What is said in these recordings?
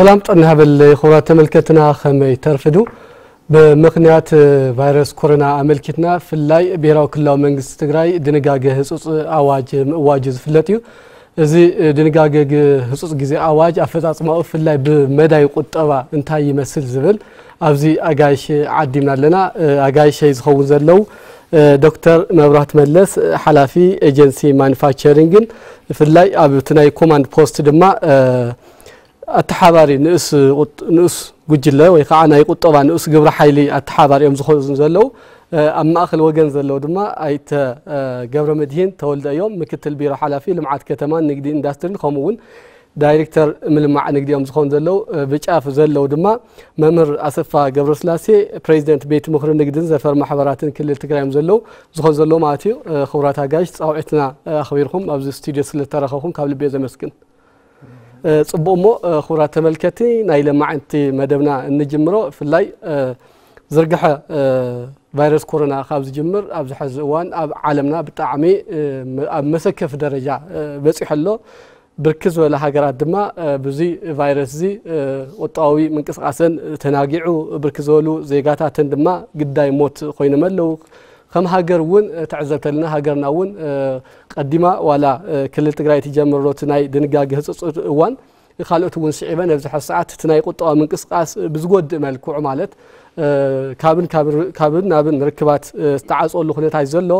ሰላም ጥዕና ይሃበለይ ክቡራት ተመልከትና፣ ከመይ ተርፍዱ? ብምኽንያት ቫይረስ ኮሮና ኣመልኪትና፣ ፍላይ ብሄራዊ ክልላዊ መንግስቲ ትግራይ ድንጋገ ህጹጽ ኣዋጅ ምእዋጁ ዝፍለጥ እዩ። እዚ ድንጋገ ግ-፣ ህጹጽ ግዜ ኣዋጅ ኣፈጻጽማኡ ፍላይ ብመዳይ ቁጠባ እንታይ ይመስል ዝብል ኣብዚ ኣጋይሽ ዓዲምና ኣለና። ኣጋይሸይ ዝኸውን ዘለዉ ዶክተር መብራህቱ መለስ፣ ሓላፊ ኤጀንሲ ማኑፋክቸሪንግን፣ ብፍላይ ኣብቲ ናይ ኮማንድ ፖስት ድማ ኣተሓባሪ ንኡስ ቁጥ-፣ ንኡስ ጉጅለ ወይ ከዓ ናይ ቁጠባ ንኡስ ግብረ ሓይሊ ኣተሓባሪ እዮም ዝኾኑ ዘለዉ። ኣብ ማእከል ወገን ዘለዉ ድማ ኣይተ ገብረ መድሂን ተወልደ እዮም፣ ምክትል ቢሮ ሓላፊ ልምዓት ከተማን ንግዲ ኢንዳስትሪን፣ ከምኡ እውን ዳይሬክተር ምልማዕ ንግዲ እዮም ዝኾኑ ዘለዉ። ብጫፍ ዘለዉ ድማ መምህር ኣሰፋ ገብረስላሴ፣ ፕሬዚደንት ቤት ምኽሪ ንግድን ዘፈር ማሕበራትን ክልል ትግራይ እዮም ዘለዉ፣ ዝኾኑ ዘለዉ ማለት እዩ። ክቡራት ኣጋይሽ፣ ፃውዒትና ኣኽቢርኩም ኣብዚ ስቱዲዮ ስለተረኸብኩም ካብ ልቢ እየ ዘመስግን። እ፣ ጽቡቕ እሞ፣ እ፣ ክቡራት ተመልከቲ፣ ናይ ለማዕንቲ መደብና እንጅምሮ፣ ብፍላይ፣ እ፣ ዝርግሐ፣ እ፣ ቫይረስ ኮሮና ካብ ዝጅምር ኣብዚ ሕዚ እዋን ኣብ ዓለምና ብጣዕሚ፣ እ፣ መ-፣ ኣብ መሰከፊ ደረጃ፣ እ፣ በጺሑ ኣሎ። ብርክት ዝበላ ሃገራት ድማ፣ እ፣ ብዚ ቫይረስ እዚ፣ እ፣ ቁጠባዊ ምንቅስቃሰን ተናጊዑ፣ ብርክት ዝበሉ ዜጋታተን ድማ ግዳይ ሞት ኮይኖም ኣለዉ። ከም ሃገር እውን፣ እ፣ ትዕዘብ ተለና፣ ሃገርና እውን፣ እ፣ ቀዲማ ዋላ፣ እ፣ ክልል ትግራይ ትጀምር ዶ እቲ ናይ ድንጋገ ህጹጽ እዋን፣ ካልኦት እውን ስዒበን ኣብዚ ሕዚ ሰዓት እቲ ናይ ቁጠባ ምንቅስቃስ ብዝጎድእ መልክዑ ማለት፣ እ፣ ካብን፣ ካብን፣ ካብን ናብን ርክባት፣ እ፣ ዝተዓጽወሉ ኩነታት እዩ ዘሎ።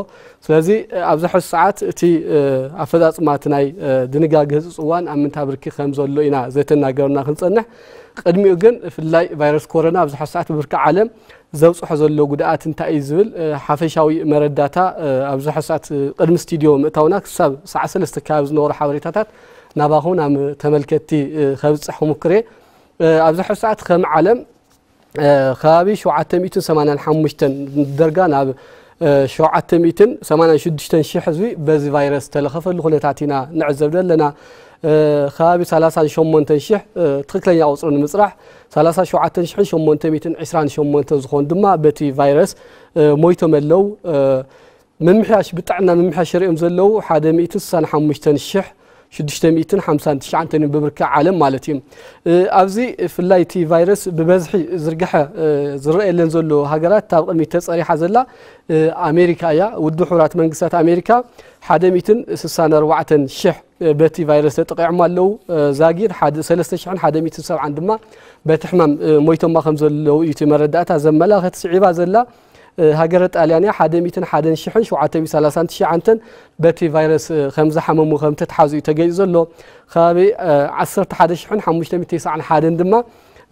ስለዚ፣ እ፣ ኣብዚ ሕዚ ሰዓት እቲ፣ እ፣ ኣፈጻጽማ እቲ ናይ፣ እ፣ ድንጋገ ህጹጽ እዋን ኣብ ምንታይ ብርኪ ከም ዘሎ ኢና ዘተናገርና ክንጸንሕ። ቅድሚኡ ግን ብፍላይ ቫይረስ ኮሮና ኣብዚ ሕዚ ሰዓት ብብርኪ ዓለም ዘብጽሖ ዘሎ ጉድኣት እንታይ እዩ ዝብል፣ እ፣ ሓፈሻዊ መረዳታ፣ እ፣ ኣብዚ ሕሳት፣ እ፣ ቅድሚ ስቱዲዮ ምእታውና ክሳብ ሰዓት ሰለስተ ከባቢ ዝነበሩ ሓበሬታታት ናባኹም ናብ ተመልከትቲ፣ እ፣ ከብጽሕ ክሙክር እየ። እ፣ ኣብዚ ሕሳት ከም ዓለም፣ እ፣ ከባቢ ሸውዓተ ሚእትን ሰማንያን ሓሙሽተን ደርጋ ናብ፣ እ፣ ሸውዓተ ሚእትን ሰማንያን ሽዱሽተን ሽሕ ህዝቢ በዚ ቫይረስ ተለኸፈሉ ኩነታት ኢና ንዕዘብ ዘለና። እ፣ ከባቢ ሰላሳን ሸሞንተን ሽሕ፣ እ፣ ትኽክለኛ ቁጽሪ ንምጽራሕ፣ ሰላሳ ሸውዓተ ሽሕን ሸሞንተ ሚእትን ዕስራን ሸሞንተን ዝኾኑ ድማ በቲ ቫይረስ፣ እ፣ ሞይቶም ኣለዉ። እ፣ ምምሕያሽ፣ ብጥዕና ምምሕያሽ ርእዮም ዘለዉ ሓደ ሚእትን ስሳን ሓሙሽተን ሽሕ ሽዱሽተ ሚእትን ሓምሳን ትሽዓተን እዮም ብብርኪ ዓለም ማለት እዩ። እ፣ ኣብዚ ብፍላይ እቲ ቫይረስ ብበዝሒ ዝርግሐ፣ እ፣ ዝረኣየለን ዘሎ ሃገራት፣ እታ ኣብ ቅድሚት ተጸሪሓ ዘላ፣ እ፣ ኣሜሪካ እያ። ውድብ ሕቡራት መንግስታት ኣሜሪካ ሓደ ሚእትን ስሳን ኣርባዕተን ሽሕ በቲ ቫይረስ ተጠቒዖም ኣለዉ። እ፣ ዛጊድ ሓደ፣ ሰለስተ ሽሕን ሓደ ሚእትን ሰብዓን ድማ በቲ ሕማም፣ እ፣ ሞይቶማ ከም ዘለዉ እዩ እቲ መረዳእታ ዘመላኽት። ስዒባ ዘላ፣ እ፣ ሃገረ ጣልያን እያ። ሓደ ሚእትን ሓደን ሽሕን ሸውዓተ ሚእትን ሰላሳን ትሽዓተን በቲ ቫይረስ፣ እ፣ ከም ዝሓመሙ ከም ተትሓዙ እዩ ተገሊጹ ዘሎ። ከባቢ፣ እ፣ ዓሰርተ ሓደ ሽሕን ሓሙሽተ ሚእትን ተስዓን ሓደን ድማ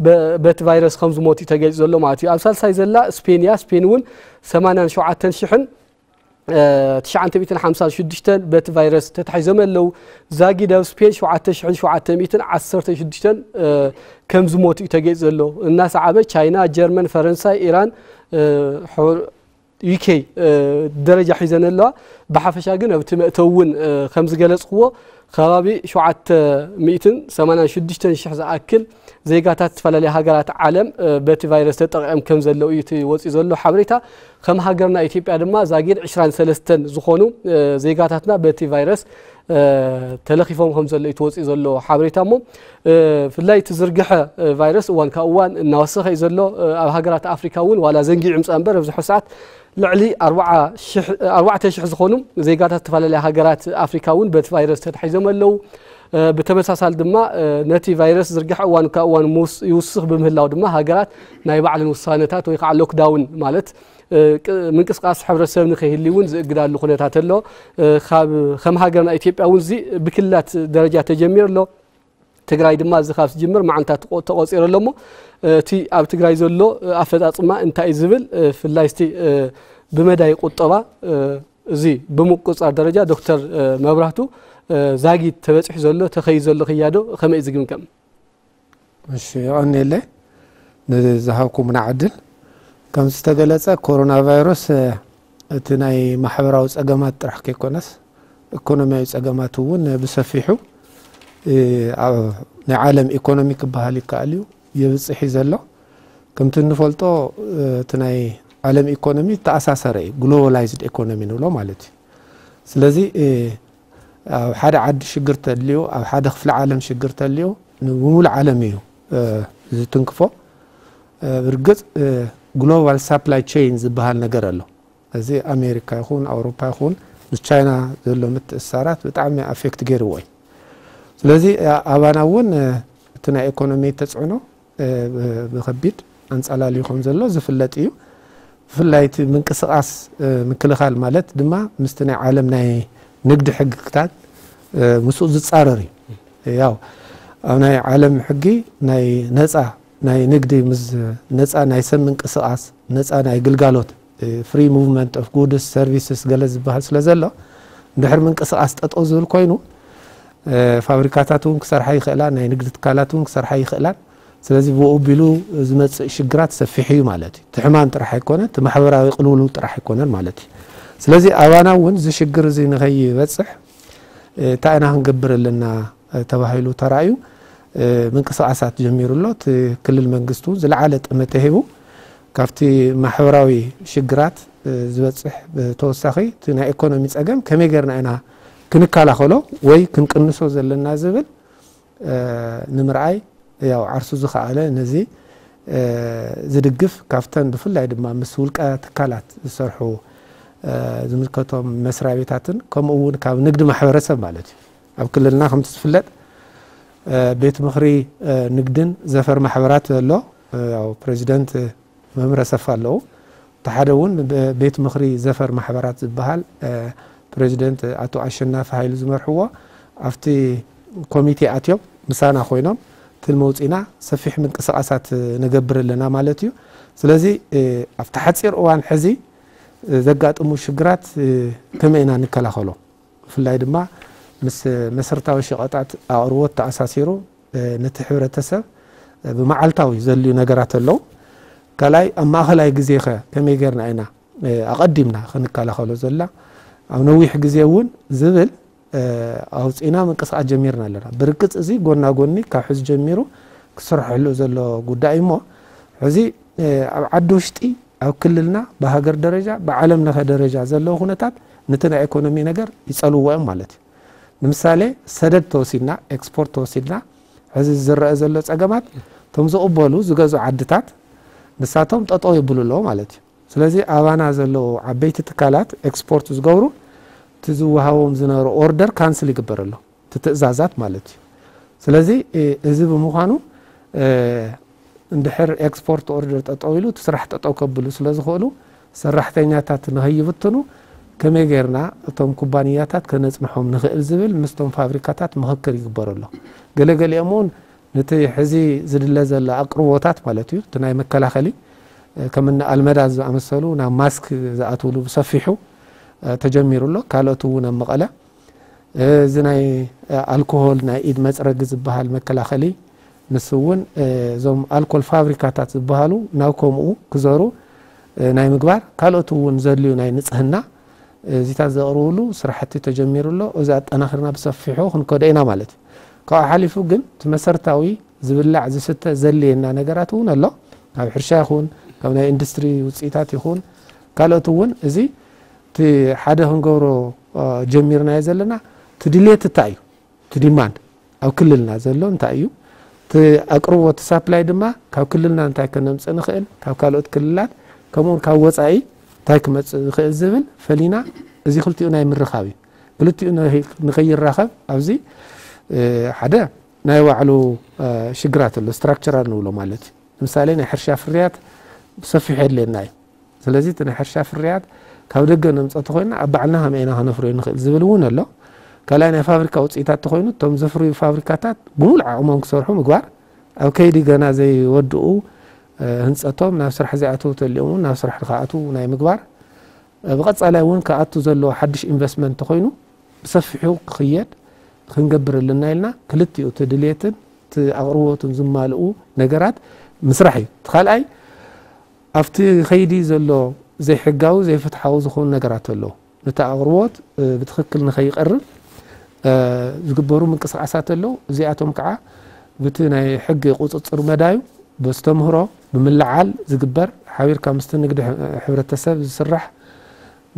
በ-፣ በቲ ቫይረስ ከም ዝሞቱ እዩ ተገሊጹ ዘሎ ማለት እዩ። ኣብ ሳልሳይ ዘላ ስፔን እያ። ስፔን እውን ሰማንያን ሸውዓተን ሽሕን እ፣ ትሽዓተ ሚእትን ሓምሳን ሽዱሽተን በቲ ቫይረስ ተታሒዞም ኣለዉ። ዛጊድ ኣብ ስፔን ሸውዓተ ሽሕን ሸውዓተ ሚእትን ዓሰርተ ሽዱሽተን፣ እ፣ ከም ዝሞቱ እዩ ተገሊጹ ዘሎ። እናሰዓበ ቻይና፣ ጀርመን፣ ፈረንሳይ፣ ኢራን፣ እ፣ ሑ-፣ ዩ ኬ፣ እ፣ ደረጃ ሒዘን ኣለዋ። ብሓፈሻ ግን ኣብቲ መእተዊ እውን፣ እ፣ ከም ዝገለጽክዎ ከባቢ ሸውዓተ ሚእትን ሰማንያን ሽዱሽተን ሽሕ ዝኣክል ዜጋታት ዝተፈላለዩ ሃገራት ዓለም፣ እ፣ በቲ ቫይረስ ተጠቒዖም ከም ዘለዉ እዩ እቲ ወጺኡ ዘሎ ሓበሬታ። ከም ሃገርና ኢትዮጵያ ድማ ዛጊድ ዕስራን ሰለስተን ዝኾኑ፣ እ፣ ዜጋታትና በቲ ቫይረስ፣ እ፣ ተለኺፎም ከም ዘሎ እዩ ተወፂኡ ዘሎ ሓበሬታ። እሞ፣ እ፣ ብፍላይ እቲ ዝርግሐ፣ እ፣ ቫይረስ እዋን ካብ እዋን እናወሰኸ እዩ ዘሎ። እ፣ ኣብ ሃገራት ኣፍሪካ እውን ዋላ ዘንጊዑ ምፃ እምበር ኣብዚ ሕዚ ሰዓት ልዕሊ ኣርባዓ ሽሕ፣ ኣርባዕተ ሽሕ ዝኾኑ ዜጋታት ዝተፈላለዩ ሃገራት ኣፍሪካ እውን በቲ ቫይረስ ተታሒዞም ኣለዉ። እ፣ ብተመሳሳሊ ድማ፣ እ፣ ነቲ ቫይረስ ዝርግሐ እዋን ካብ እዋን ምስ-፣ ይውስኽ ብምህላው ድማ ሃገራት ናይ ባዕለን ውሳነታት ወይ ከዓ ሎክዳውን ማለት፣ እ፣ ቅ-፣ ምንቅስቃስ ሕብረተሰብ ንኸይህሊ እውን ዝእግዳሉ ኩነታት ኣሎ። እ፣ ካብ፣ ከም ሃገርና ኢትዮጵያ እውን እዚ ብክልላት ደረጃ ተጀሚሩ ኣሎ። ትግራይ ድማ እዚ ካብ ዝጅምር መዓንታት ተቆ-፣ ተቆፂሩ ኣሎ። እሞ፣ እ፣ እቲ ኣብ ትግራይ ዘሎ፣ እ፣ ኣፈፃፅማ እንታይ እዩ ዝብል፣ እ፣ ብፍላይ እስቲ፣ እ፣ ብመዳይ ቁጠባ፣ እ፣ እዚ ብምቁፃር ደረጃ ዶክተር፣ እ፣ መብራህቱ፣ እ፣ ዛጊድ ተበፂሑ ዘሎ፣ ተኸይዱ ዘሎ ክያዶ ከመይ እዩ ዝግምገም? እሺ፣ የቐንየለይ ንዝሃብኩምና ዕድል። ከም ዝተገለጸ፣ ኮሮና ቫይረስ፣ እ፣ እቲ ናይ ማሕበራዊ ጸገማት ጥራሕ ከይኮነስ፣ ኢኮኖሚያዊ ጸገማት እውን ብሰፊሑ፣ እ፣ ኣብ ናይ ዓለም ኢኮኖሚ ክበሃል ይከኣል እዩ፣ የብጽሕ እዩ ዘሎ። ከምቲ እንፈልጦ፣ እ፣ እቲ ናይ ዓለም ኢኮኖሚ ተኣሳሰረ እዩ፣ ግሎባላይዝድ ኢኮኖሚ ንብሎ ማለት እዩ። ስለዚ፣ እ፣ ኣብ ሓደ ዓዲ ሽግር ተልዩ፣ ኣብ ሓደ ክፍለ ዓለም ሽግር ተልዩ፣ ንብሙሉእ ዓለም እዩ ዝትንክፎ። ብርግፅ ግሎባል ሳፕላይ ቸይን ዝበሃል ነገር ኣሎ። እዚ ኣሜሪካ ይኹን ኣውሮፓ ይኹን ምስ ቻይና ዘሎ ምትእስሳራት ብጣዕሚ ኣፌክት ገይርዎ እዩ። ስለዚ ኣባና እውን እቲ ናይ ኢኮኖሚ ተፅዕኖ ብከቢድ ኣንፃላልዩ ከም ዘሎ ዝፍለጥ እዩ። ብፍላይ እቲ ምንቅስቃስ ምክልኻል ማለት ድማ ምስቲ ናይ ዓለም ናይ ንግዲ ሕግታት ምስኡ ዝፃረር እዩ። ያው ኣብ ናይ ዓለም ሕጊ ናይ ነፃ ናይ ንግዲ ምስ ነፃ ናይ ሰብ ምንቅስቃስ ነፃ ናይ ግልጋሎት ፍሪ ሙቭመንት ኦፍ ጉድስ ሰርቪስስ ገለ ዝበሃል ስለ ዘሎ እንድሕር ምንቅስቃስ ጠጠው ዝብል ኮይኑ ፋብሪካታት እውን ክሰርሓ ይኽእላ፣ ናይ ንግዲ ትካላት እውን ክሰርሓ ይኽእላን። ስለዚ ብኡ ቢሉ ዝመፅእ ሽግራት ሰፊሕ እዩ ማለት እዩ። እቲ ሕማም ጥራሕ ኣይኮነ፣ እቲ ማሕበራዊ ቅልውልው ጥራሕ ኣይኮነን ማለት እዩ። ስለዚ ኣባና እውን እዚ ሽግር እዚ ንኸይበፅሕ እንታይ ኢና ክንገብር ኣለና ተባሂሉ ተራእዩ ምንቅስቃሳት ጀሚሩ ኣሎ። እቲ ክልል መንግስቲ እውን ዝለዓለ ጠመተ ሂቡ ካብቲ ማሕበራዊ ሽግራት ዝበፅሕ ብተወሳኺ እቲ ናይ ኢኮኖሚ ፀገም ከመይ ጌርና ኢና ክንከላኸሎ ወይ ክንቅንሶ ዘለና ዝብል ንምርኣይ ያው ዓርሱ ዝኸኣለ ነዚ ዝድግፍ ካብተን ብፍላይ ድማ ምስ ውልቀ ትካላት ዝሰርሑ ዝምልከቶም መስሪያ ቤታትን ከምኡ እውን ካብ ንግዲ ማሕበረሰብ ማለት እዩ። ኣብ ክልልና ከምቲ ዝፍለጥ ቤት ምኽሪ ንግድን ዘፈር ማሕበራት ኣሎ። ያው ፕሬዚደንት መምህር ኣሰፋ ኣለዉ። እቲ ሓደ እውን ቤት ምኽሪ ዘፈር ማሕበራት ዝበሃል ፕሬዚደንት ኣቶ ኣሸናፊ ሃይሉ ዝመርሕዎ ኣብቲ ኮሚቴ ኣትዮም ምሳና ኮይኖም ትልሚ ውፂና ሰፊሕ ምንቅስቃሳት ንገብር ኣለና ማለት እዩ። ስለዚ ኣብቲ ሓፂር እዋን ሕዚ ዘጋጥሙ ሽግራት ከመይ ኢና ንከላኸሎ? ብፍላይ ድማ ምስ መሰረታዊ ሸቐጣት ኣቕርቦት ተኣሳሲሩ ነቲ ሕብረተሰብ ብመዓልታዊ ዘልዩ ነገራት ኣለዉ። ካልኣይ ኣብ ማእኸላይ ግዜ ኸ ከመይ ጌርና ኢና ኣቐዲምና ክንከላኸሎ ዘላ ኣብ ነዊሕ ግዜ እውን ዝብል ኣውፂና ምንቅስቃስ ጀሚርና ኣለና። ብርግፅ እዚ ጎና ጎኒ ካብ ሕዚ ጀሚሩ ክስርሐሉ ዘሎ ጉዳይ እሞ ሕዚ ኣብ ዓዲ ውሽጢ ኣብ ክልልና ብሃገር ደረጃ ብዓለም ለኸ ደረጃ ዘለዉ ኩነታት ነቲ ናይ ኢኮኖሚ ነገር ይፀልዎ እዮም ማለት እዩ። ንምሳሌ ሰደድ ተወሲድና ኤክስፖርት ተወሲድና ሕዚ ዝረአ ዘሎ ፀገማት እቶም ዝቕበሉ ዝገዝኡ ዓድታት ንሳቶም ጠጠው የብሉ ኣለዉ ማለት እዩ። ስለዚ ኣባና ዘለዉ ዓበይቲ ትካላት ኤክስፖርት ዝገብሩ እቲ ዝወሃቦም ዝነበረ ኦርደር ካንስል ይግበር ኣሎ እቲ ትእዛዛት ማለት እዩ። ስለዚ እዚ ብምዃኑ እንድሕር ኤክስፖርት ኦርደር ጠጠው ኢሉ እቲ ስራሕ ጠጠው ከብሉ ስለ ዝኽእሉ ሰራሕተኛታት ንኸይብትኑ ከመይ ጌርና እቶም ኩባንያታት ከነፅንሖም ንኽእል ዝብል ምስቶም ፋብሪካታት ምኽክር ይግበር ኣሎ። ገለገሊኦም እውን ነቲ ሕዚ ዝድለ ዘሎ ኣቅርቦታት ማለት እዩ እቲ ናይ መከላኸሊ ከምኒ ኣልመዳ ዝኣመሰሉ ናብ ማስክ ዝኣትውሉ ብሰፊሑ ተጀሚሩ ኣሎ። ካልኦት እውን ኣብ መቐለ እዚ ናይ ኣልኮሆል ናይ ኢድ መፅረጊ ዝበሃል መከላኸሊ ንሱ እውን እዞም ኣልኮል ፋብሪካታት ዝበሃሉ ናብ ከምኡ ክዘሩ ናይ ምግባር ካልኦት እውን ዘድልዩ ናይ ንፅህና እዚታት ዘቕርብሉ ስራሕቲ ተጀሚሩ ኣሎ። እዚ ኣጠናኺርና ብሰፊሑ ክንከዶ ኢና ማለት እዩ። ካብኡ ሓሊፉ ግን እቲ መሰረታዊ ዝብላዕ ዝስተ ዘድልየና ነገራት እውን ኣሎ። ካብ ሕርሻ ይኹን ካብ ናይ ኢንዱስትሪ ውፅኢታት ይኹን ካልኦት እውን እዚ እቲ ሓደ ክንገብሮ ጀሚርናዮ ዘለና እቲ ድሌት እንታይ እዩ? እቲ ዲማንድ ኣብ ክልልና ዘሎ እንታይ እዩ? እቲ ኣቅርቦት ሳፕላይ ድማ ካብ ክልልና እንታይ ከነምፅእ ንኽእል ካብ ካልኦት ክልላት ከምኡውን ካብ ወፃኢ እንታይ ክመፅእ ዝኽእል ዝብል ፈሊና እዚ ክልቲኡ ናይ ምርኻብ እዩ። ክልቲኡ ንኸይራኸብ ኣብዚ ሓደ ናይ ባዕሉ ሽግራት ኣሎ ስትራክቸራል ንብሎ ማለት እዩ። ንምሳሌ ናይ ሕርሻ ፍርያት ብሰፊሑ የድልየና እዩ። ስለዚ እቲ ናይ ሕርሻ ፍርያት ካብ ደገ ነምፀ ተኮይና ኣብ ባዕልና ከመይ ኢና ከነፍርዮ ንኽእል ዝብል እውን ኣሎ። ካልኣይ ናይ ፋብሪካ ውፅኢታት ተኮይኑ እቶም ዘፍርዩ ፋብሪካታት ብሙሉእ ዓቕሞም ክሰርሑ ምግባር ኣብ ከይዲ ገና ዘይወድኡ ህንፀቶም ናብ ስራሕ ዘይኣተዉ ተሊኦም እውን ናብ ስራሕ ንክኣትዉ ናይ ምግባር ብቐፃላይ እውን ክኣቱ ዘለዎ ሓድሽ ኢንቨስትመንት ተኮይኑ ብሰፊሑ ክኽየድ ክንገብር ኣለና ኢልና ክልቲኡ እቲ ድልየትን እቲ ኣቕርቦትን ዝማልኡ ነገራት ምስራሕ እዩ። እቲ ካልኣይ ኣብቲ ከይዲ ዘሎ ዘይሕጋዊ ዘይፍትሓዊ ዝኾኑ ነገራት ኣለዉ። ነቲ ኣቕርቦት ብትኽክል ንኸይቐርብ ዝግበሩ ምንቅስቃሳት ኣለዉ። እዚኣቶም ከዓ ብቲ ናይ ሕጊ ቁፅፅር መዳዩ በስተምህሮ ብምልዓል ዝግበር ሓቢርካ ምስቲ ንግዲ ሕብረተሰብ ዝስራሕ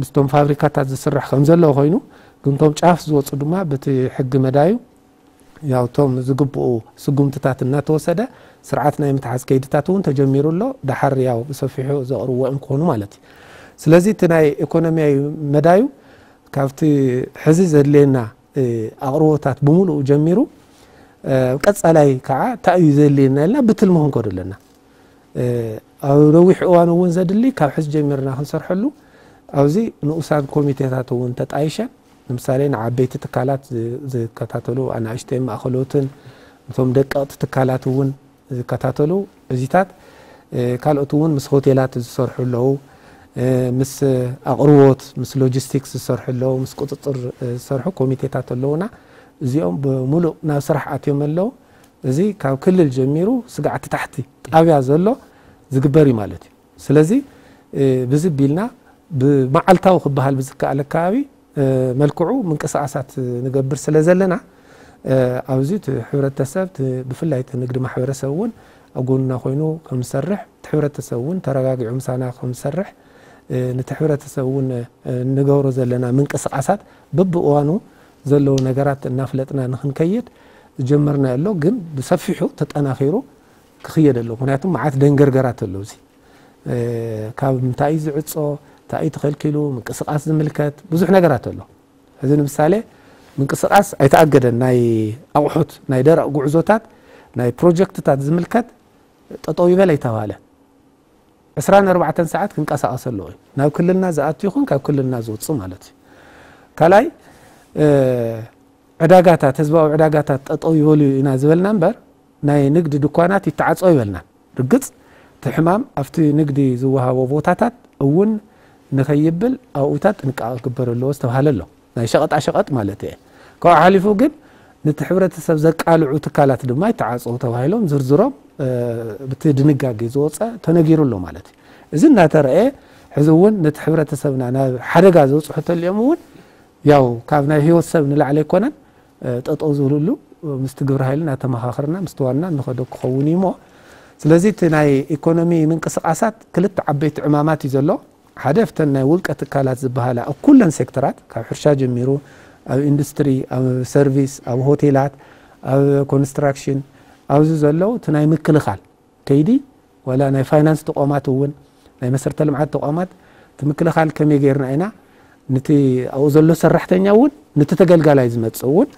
ምስቶም ፋብሪካታት ዝስራሕ ከም ዘለዎ ኮይኑ ግን ቶም ጫፍ ዝወፁ ድማ በቲ ሕጊ መዳዩ ያው ቶም ዝግብኡ ስጉምትታት እናተወሰደ ስርዓት ናይ ምትሓዝ ከይድታት እውን ተጀሚሩ ኣሎ። ደሓር ያው ብሰፊሑ ዘቕርብዎ እዮም ክኾኑ ማለት እዩ። ስለዚ እቲ ናይ ኢኮኖሚያዊ መዳዩ ካብቲ ሕዚ ዘድልየና ኣቕርቦታት ብምሉኡ ጀሚሩ ቀፃላይ ከዓ እንታይ እዩ ዘድልየና ኢልና ብትልሚ ክንከዶ ኣለና። ኣብ ነዊሕ እዋን እውን ዘድሊ ካብ ሕዚ ጀሚርና ክንሰርሐሉ ኣብዚ ንኡሳን ኮሚቴታት እውን ተጣይሸን ንምሳሌ ንዓበይቲ ትካላት ዝከታተሉ ኣናእሽተይ ማእኸሎትን እቶም ደቀቕቲ ትካላት እውን ዝከታተሉ እዚታት ካልኦት እውን ምስ ሆቴላት ዝሰርሑ ኣለዉ፣ ምስ ኣቕርቦት ምስ ሎጂስቲክስ ዝሰርሑ ኣለዉ፣ ምስ ቁፅፅር ዝሰርሑ ኮሚቴታት ኣለዉና። እዚኦም ብምሉእ ናብ ስራሕ ኣትዮም ኣለዉ። እዚ ካብ ክልል ጀሚሩ ስጋዕ እቲ ታሕቲ ጣብያ ዘሎ ዝግበር እዩ ማለት እዩ። ስለዚ ብዚ ቢልና ብመዓልታዊ ክበሃል ብዝከኣል ኣከባቢ መልክዑ ምንቅስቃሳት ንገብር ስለ ዘለና ኣብዚ እቲ ሕብረተሰብ ብፍላይ እቲ ንግዲ ማሕበረሰብ እውን ኣብ ጎንና ኮይኑ ከምሰርሕ እቲ ሕብረተሰብ እውን ተረጋጊዑ ምሳና ከምሰርሕ ነቲ ሕብረተሰብ እውን ንገብሮ ዘለና ምንቅስቃሳት በብእዋኑ ዘለዉ ነገራት እናፍለጥና ንክንከይድ ዝጀመርናዮ ኣሎ። ግን ብሰፊሑ ተጠናኺሩ ክኽየድ ኣለዎ። ምክንያቱ መዓት ደንገርገራት ኣለዉ። እዚ ካብ ምንታይ እዩ ዝዕጾ፣ እንታይ እዩ ተኸልኪሉ፣ ምንቅስቃስ ዝምልከት ብዙሕ ነገራት ኣሎ። እዚ ንምሳሌ ምንቅስቃስ ኣይተኣገደን። ናይ ኣቑሑት ናይ ደረቕ ጉዕዞታት ናይ ፕሮጀክትታት ዝምልከት ጠጠው ይበል ኣይተባህለ። ዕስራን ኣርባዕተን ሰዓት ክንቀሳቐስ ኣለዎ እዩ። ናብ ክልልና ዝኣቱ ይኹን ካብ ክልልና ዝወፅእ ማለት እዩ። ካልኣይ ዕዳጋታት ህዝባዊ ዕዳጋታት ጠጠው ይበሉ ኢና ዝበልና እምበር ናይ ንግዲ ድኳናት ይተዓፀው ይበልና። ርግፅ እቲ ሕማም ኣብቲ ንግዲ ዝወሃቦ ቦታታት እውን ንኸይብል ኣብኡታት ጥንቃቐ ክግበር ኣለዎ ዝተባሃለ ኣሎ። ናይ ሸቐጣ ሸቐጥ ማለት እየ። ካብኡ ሓሊፉ ግን ነቲ ሕብረተሰብ ዘቃልዑ ትካላት ድማ ይተዓፀው ተባሂሎም ዝርዝሮም ብቲ ድንጋጌ ዝወፀ ተነጊሩ ኣሎ ማለት እዩ። እዚ እናተረእየ ሕዚ እውን ነቲ ሕብረተሰብና ናብ ሓደጋ ዘብፅሑ ተሊኦም እውን ያው ካብ ናይ ህይወት ሰብ ንላዕሊ ኣይኮነን ጠጠው ዝብልሉ ምስቲ ግብረ ኃይሊ እናተመኻኸርና ምስቲ ዋና እንኸዶ ክኸውን እዩ እሞ ስለዚ እቲ ናይ ኢኮኖሚ ምንቅስቃሳት ክልተ ዓበይቲ ዕማማት እዩ ዘሎ። ሓደ እፍተን ናይ ውልቀ ትካላት ዝበሃላ ኣብ ኩለን ሴክተራት ካብ ሕርሻ ጀሚሩ ኣብ ኢንዱስትሪ፣ ኣብ ሰርቪስ፣ ኣብ ሆቴላት፣ ኣብ ኮንስትራክሽን ኣብዚ ዘለዉ እቲ ናይ ምክልኻል ከይዲ ዋላ ናይ ፋይናንስ ተቋማት እውን ናይ መሰረተ ልምዓት ተቋማት እቲ ምክልኻል ከመይ ገይርና ኢና ነቲ ኣብኡ ዘሎ ሰራሕተኛ እውን ነቲ ተገልጋላይ ዝመፅእ እውን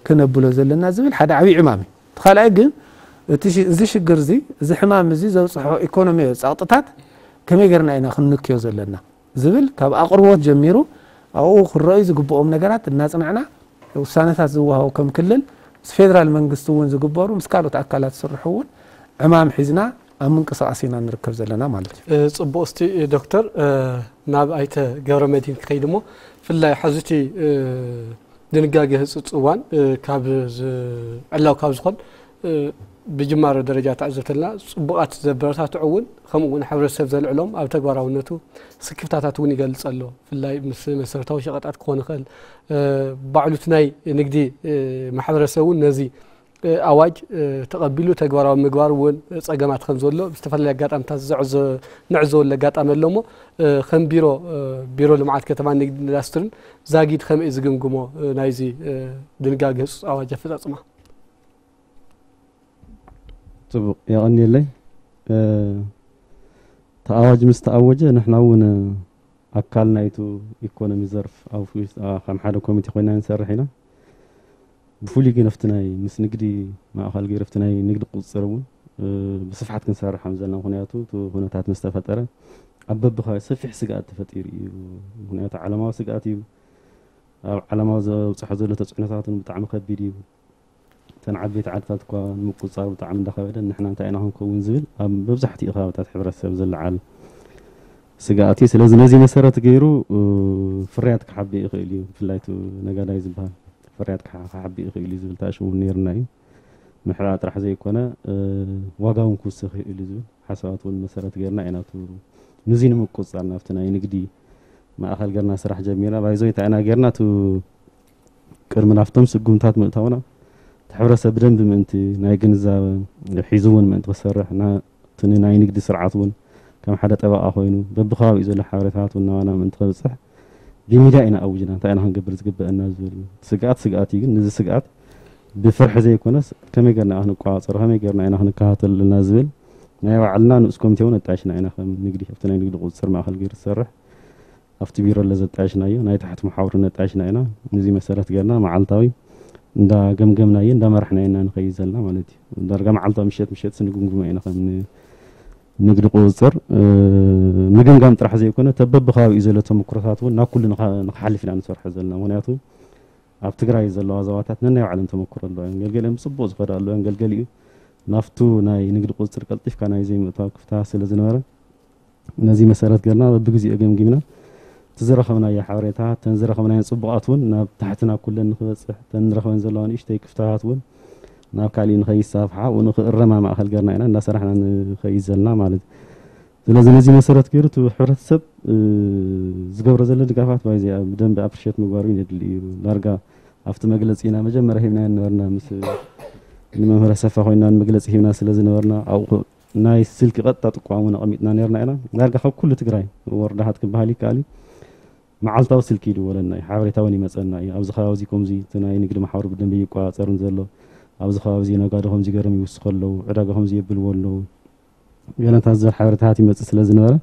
ክነብሎ ዘለና ዝብል ሓደ ዓብዪ ዕማም እዩ። እቲ ካልኣይ ግን እቲ እዚ ሽግር እዚ እዚ ሕማም እዚ ዘብፅሖ ኢኮኖሚያዊ ፀቕጥታት ከመይ ገይርና ኢና ክንንክዮ ዘለና ዝብል ካብ ኣቕርቦት ጀሚሩ ኣብኡ ክረኣዩ ዝግብኦም ነገራት እናፅናዕና ውሳነታት ዝወሃቡ ከም ክልል ምስ ፌደራል መንግስቲ እውን ዝግበሩ ምስ ካልኦት ኣካላት ዝስርሑ እውን ዕማም ሒዝና ኣብ ምንቅስቃስ ኢና ንርከብ ዘለና ማለት እዩ። ፅቡቕ። እስቲ ዶክተር ናብ ኣይተ ገብረ መድህን ክኸይድ እሞ ብፍላይ ሕዚ እቲ ድንጋገ ህፁፅ እዋን ካብ ዕላው ካብ ዝኾን ብጅማሮ ደረጃ ተዕዘብተልና ፅቡቓት ዘበረታትዑ እውን ከምኡ እውን ሕብረተሰብ ዘልዕሎም ኣብ ተግባራውነቱ ስክፍታታት እውን ይገልፅ ኣሎ። ብፍላይ ምስ መሰረታዊ ሸቐጣት ክኾን ይኽእል ባዕሉ እቲ ናይ ንግዲ ማሕበረሰብ እውን ነዚ ኣዋጅ ተቐቢሉ ተግባራዊ ምግባር እውን ፀገማት ከም ዘሎ ብዝተፈላለየ ኣጋጣሚታት ንዕዘበሉ ኣጋጣሚ ኣሎ እሞ ከም ቢሮ ቢሮ ልምዓት ከተማ ንግዲ ኢንዳስትርን ዛጊድ ከመይ ዝግምግሞ ናይዚ ድንጋገ ህፁፅ ኣዋጅ ኣፈፃፅማ? ፅቡቕ የቐንየለይ። እቲ ኣዋጅ ምስ ተኣወጀ ንሕና እውን ኣካል ናይቱ ኢኮኖሚ ዘርፍ ኣብ ከም ሓደ ኮሚቴ ኮይና ንሰርሕ ኢና። ብፍሉይ ግን ኣብቲ ናይ ምስ ንግዲ ማእኸል ገይሩ ኣብቲ ናይ ንግዲ ቁፅፅር እውን ብስፍሓት ክንሰርሕ ከም ዘለና ምክንያቱ እቲ ኩነታት ምስ ተፈጠረ ኣብ በብኸባቢ ሰፊሕ ስግኣት ተፈጢሩ እዩ። ምክንያቱ ዓለማዊ ስግኣት እዩ። ኣብ ዓለማዊ ዘብፅሖ ዘሎ ተፅዕኖታት እውን ብጣዕሚ ከቢድ እዩ። እተን ዓበይቲ ዓድታት እኳ ንምቁፅፃር ብጣዕሚ እንዳኸበደን ንሕና እንታይ ኢና ክንከውን ዝብል ኣብ መብዛሕትኡ ከባብታት ሕብረተሰብ ዝለዓል ስግኣት እዩ። ስለዚ ነዚ መሰረት ገይሩ ፍርያት ክሓብእ ይኽእል እዩ። ብፍላይ እቲ ነጋዳይ ዝበሃል ፍርያት ክሓብእ ይኽእል እዩ ዝብል ተኣሽሙ እውን ነይርና እዩ። ምሕባእ ጥራሕ ዘይኮነ ዋጋ እውን ክውስኽ ይኽእል እዩ ዝብል ሓሳባት እውን መሰረት ገይርና ኢና ነዚ ንምቁፅፃር ናብቲ ናይ ንግዲ ማእኸል ገርና ስራሕ ጀሚርና ባይዞ እንታይ ኢና ገርና ቱ ቅድሚ ናብቶም ስጉምታት ምእታውና እቲ ሕብረተሰብ ብደንቢ ምእንቲ ናይ ግንዛበ ሒዙ እውን ምእንቲ ክሰርሕ እቲ ናይ ንግዲ ስርዓት እውን ከም ሓደ ጠበቃ ኮይኑ በብከባቢኡ ዘሎ ሓበሬታት እውን ናባና ምእንቲ ከብፅሕ ብሚድያ ኢና ኣውጅና እንታይ ኢና ክንገብር ዝግበአና ዝብል ስግኣት ስግኣት እዩ ግን ነዚ ስግኣት ብፍርሒ ዘይኮነስ ከመይ ጌርና ኢና ክንቆጻጸሮ፣ ከመይ ጌርና ኢና ክንከታተል ኣለና ዝብል ናይ ባዕልና ንኡስ ኮሚቴ እውን ኣጣይሽና ኢና። ከም ንግዲ ኣብቲ ናይ ንግዲ ቁፅፅር ማእኸል ገይሩ ዝሰርሕ ኣብቲ ቢሮ ለዘጣየሽናዮ ናይ ታሕቲ መሓውር ነጣየሽና ኢና። ነዚ መሰረት ገርና መዓልታዊ እንዳ ገምገምናዮ እንዳ መራሕናዮ ኢና ንኸይድ ዘለና ማለት እዩ። ዳርጋ መዓልታዊ ምሸት ምሸት ስንግምግሞ ኢና ከም ን- ንግዲ ቁፅፅር ምግምጋም ጥራሕ ዘይኮነ ተበብከባቢኡ ዘሎ ተመክሮታት እውን ናብ ኩሉ ንኻ- ንክሓልፍ ኢና ንሰርሖ ዘለና። ምክንያቱ ኣብ ትግራይ ዘለዋ ዞባታት ነናይ ባዕለን ተመክሮ ኣለዋ። ገልገሊኦም ብፅቡቅ ዝኸዳ ኣለዋ። ገልገሊኡ ናብቱ ናይ ንግዲ ቁፅፅር ቀልጢፍካ ናይ ዘይምእታው ክፍታ ስለ ዝነበረ ነዚ መሰረት ገርና በብግዜኡ ገምጊምና እቲ ዝረኸብናዮ ሓበሬታ ተን ዝረኸብናዮ ፅቡቃት እውን ናብ ታሕትና ኩለን ንክበፅሕ ተን ንረኸበን ዘለዋ ንእሽተይ ክፍታታት እውን ናብ ካሊእ ንኸይሳፍሓ ኣብኡ ንክእረማ ማእኸል ገርና ኢና እናሰራሕና ንኸይድ ዘለና ማለት እዩ። ስለዚ ነዚ መሰረት ገይሩ እቲ ሕብረተሰብ ዝገብሮ ዘሎ ድጋፋት ባይዚ ብደንብ ኣፕሪሼት ምግባር እውን የድሊ እዩ። ዳርጋ ኣብቲ መግለፂ ኢና መጀመርያ ሂብና ነበርና ምስ ንመምህር ኣሰፋ ኮይና መግለፂ ሂብና ስለ ዝነበርና ኣብኡ ናይ ስልኪ ቀጥታ ጥቋሙ ኣቐሚጥና ነርና ኢና። ዳርጋ ካብ ኩሉ ትግራይ ወረዳታት ክበሃል ይከኣል እዩ መዓልታዊ ስልኪ ይድወለና እዩ። ሓበሬታ እውን ይመፀና እዩ። ኣብዚ ከባቢ እዚ ከምዚ እቲ ናይ ንግዲ ማሕበር ብደንብ ይቆፃፀርን ዘሎ ኣብዚ ከባቢ እዚ ነጋዶ ከምዚ ገርም ይውስኸ ኣለዉ ዕዳጋ ከምዚ የብልዎ ኣለዉ ገለታት ዝብል ሓበሬታታት ይመፅእ ስለ ዝነበረ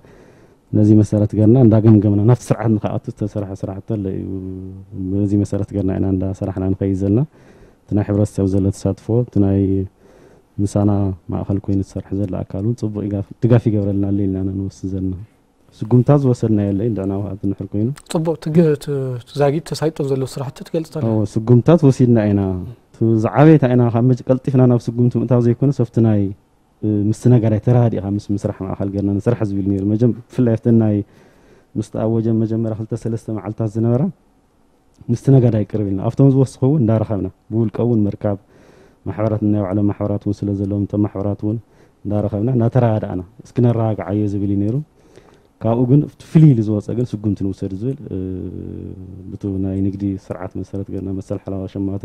ነዚ መሰረት ገርና እንዳገምገምና ናብቲ ስርዓት ንክኣቱ ዝተሰርሐ ስራሕቲ ኣሎ እዩ። በዚ መሰረት ገርና ኢና እንዳሰራሕና ንኸይድ ዘለና። እቲ ናይ ሕብረተሰብ ዘሎ ተሳትፎ እቲ ናይ ምሳና ማእኸል ኮይኑ ዝሰርሕ ዘሎ ኣካል እውን ፅቡቅ ድጋፍ ይገብረልና ኣሎ ኢልና ኢና ንወስድ ዘለና። ስጉምታት ዝወሰድና የለ እንድዕና ውሃ ድንሕር ኮይኑ ፅቡቅ ትግ- ት- ዛጊድ ተሳይጦም ዘለዉ ስራሕቲ ትገልፅ ኣለ። እዎ፣ ስጉምታት ወሲድና ኢና። እቲ ዝዓበየታ ኢና ካብ መጭ ቀልጢፍና ናብ ስጉምቲ ምእታው ዘይኮነ ሰብቲ ናይ ምስቲ ነጋዳይ ተራዲእኻ ምስ ምስራሕ ማእኸል ገርና ንስራሕ ዝብል ነይሩ። መጀም ብፍላይ ኣብተን ናይ ምስ ተኣወጀ መጀመርያ ክልተ ሰለስተ መዓልታት ዝነበራ ምስቲ ነጋዳይ ቅርብ ኢልና ኣብቶም ዝወስኹ እውን እንዳረኸብና ብውልቀ እውን ምርካብ ማሕበራት ናይ ባዕሎም ማሕበራት እውን ስለ ዘለዎም እቶም ማሕበራት እውን እንዳረኸብና እንዳተረዳዳእና እስኪ ነረጋግዓዮ ዝብል እዩ ነይሩ። ካብኡ ግን እቲ ፍልይ ኢሉ ዝወፀ ግን ስጉምቲ ንውሰድ ዝብል ብቱ ናይ ንግዲ ስርዓት መሰረት ገርና መሰል ሓላዋ ሸማቶ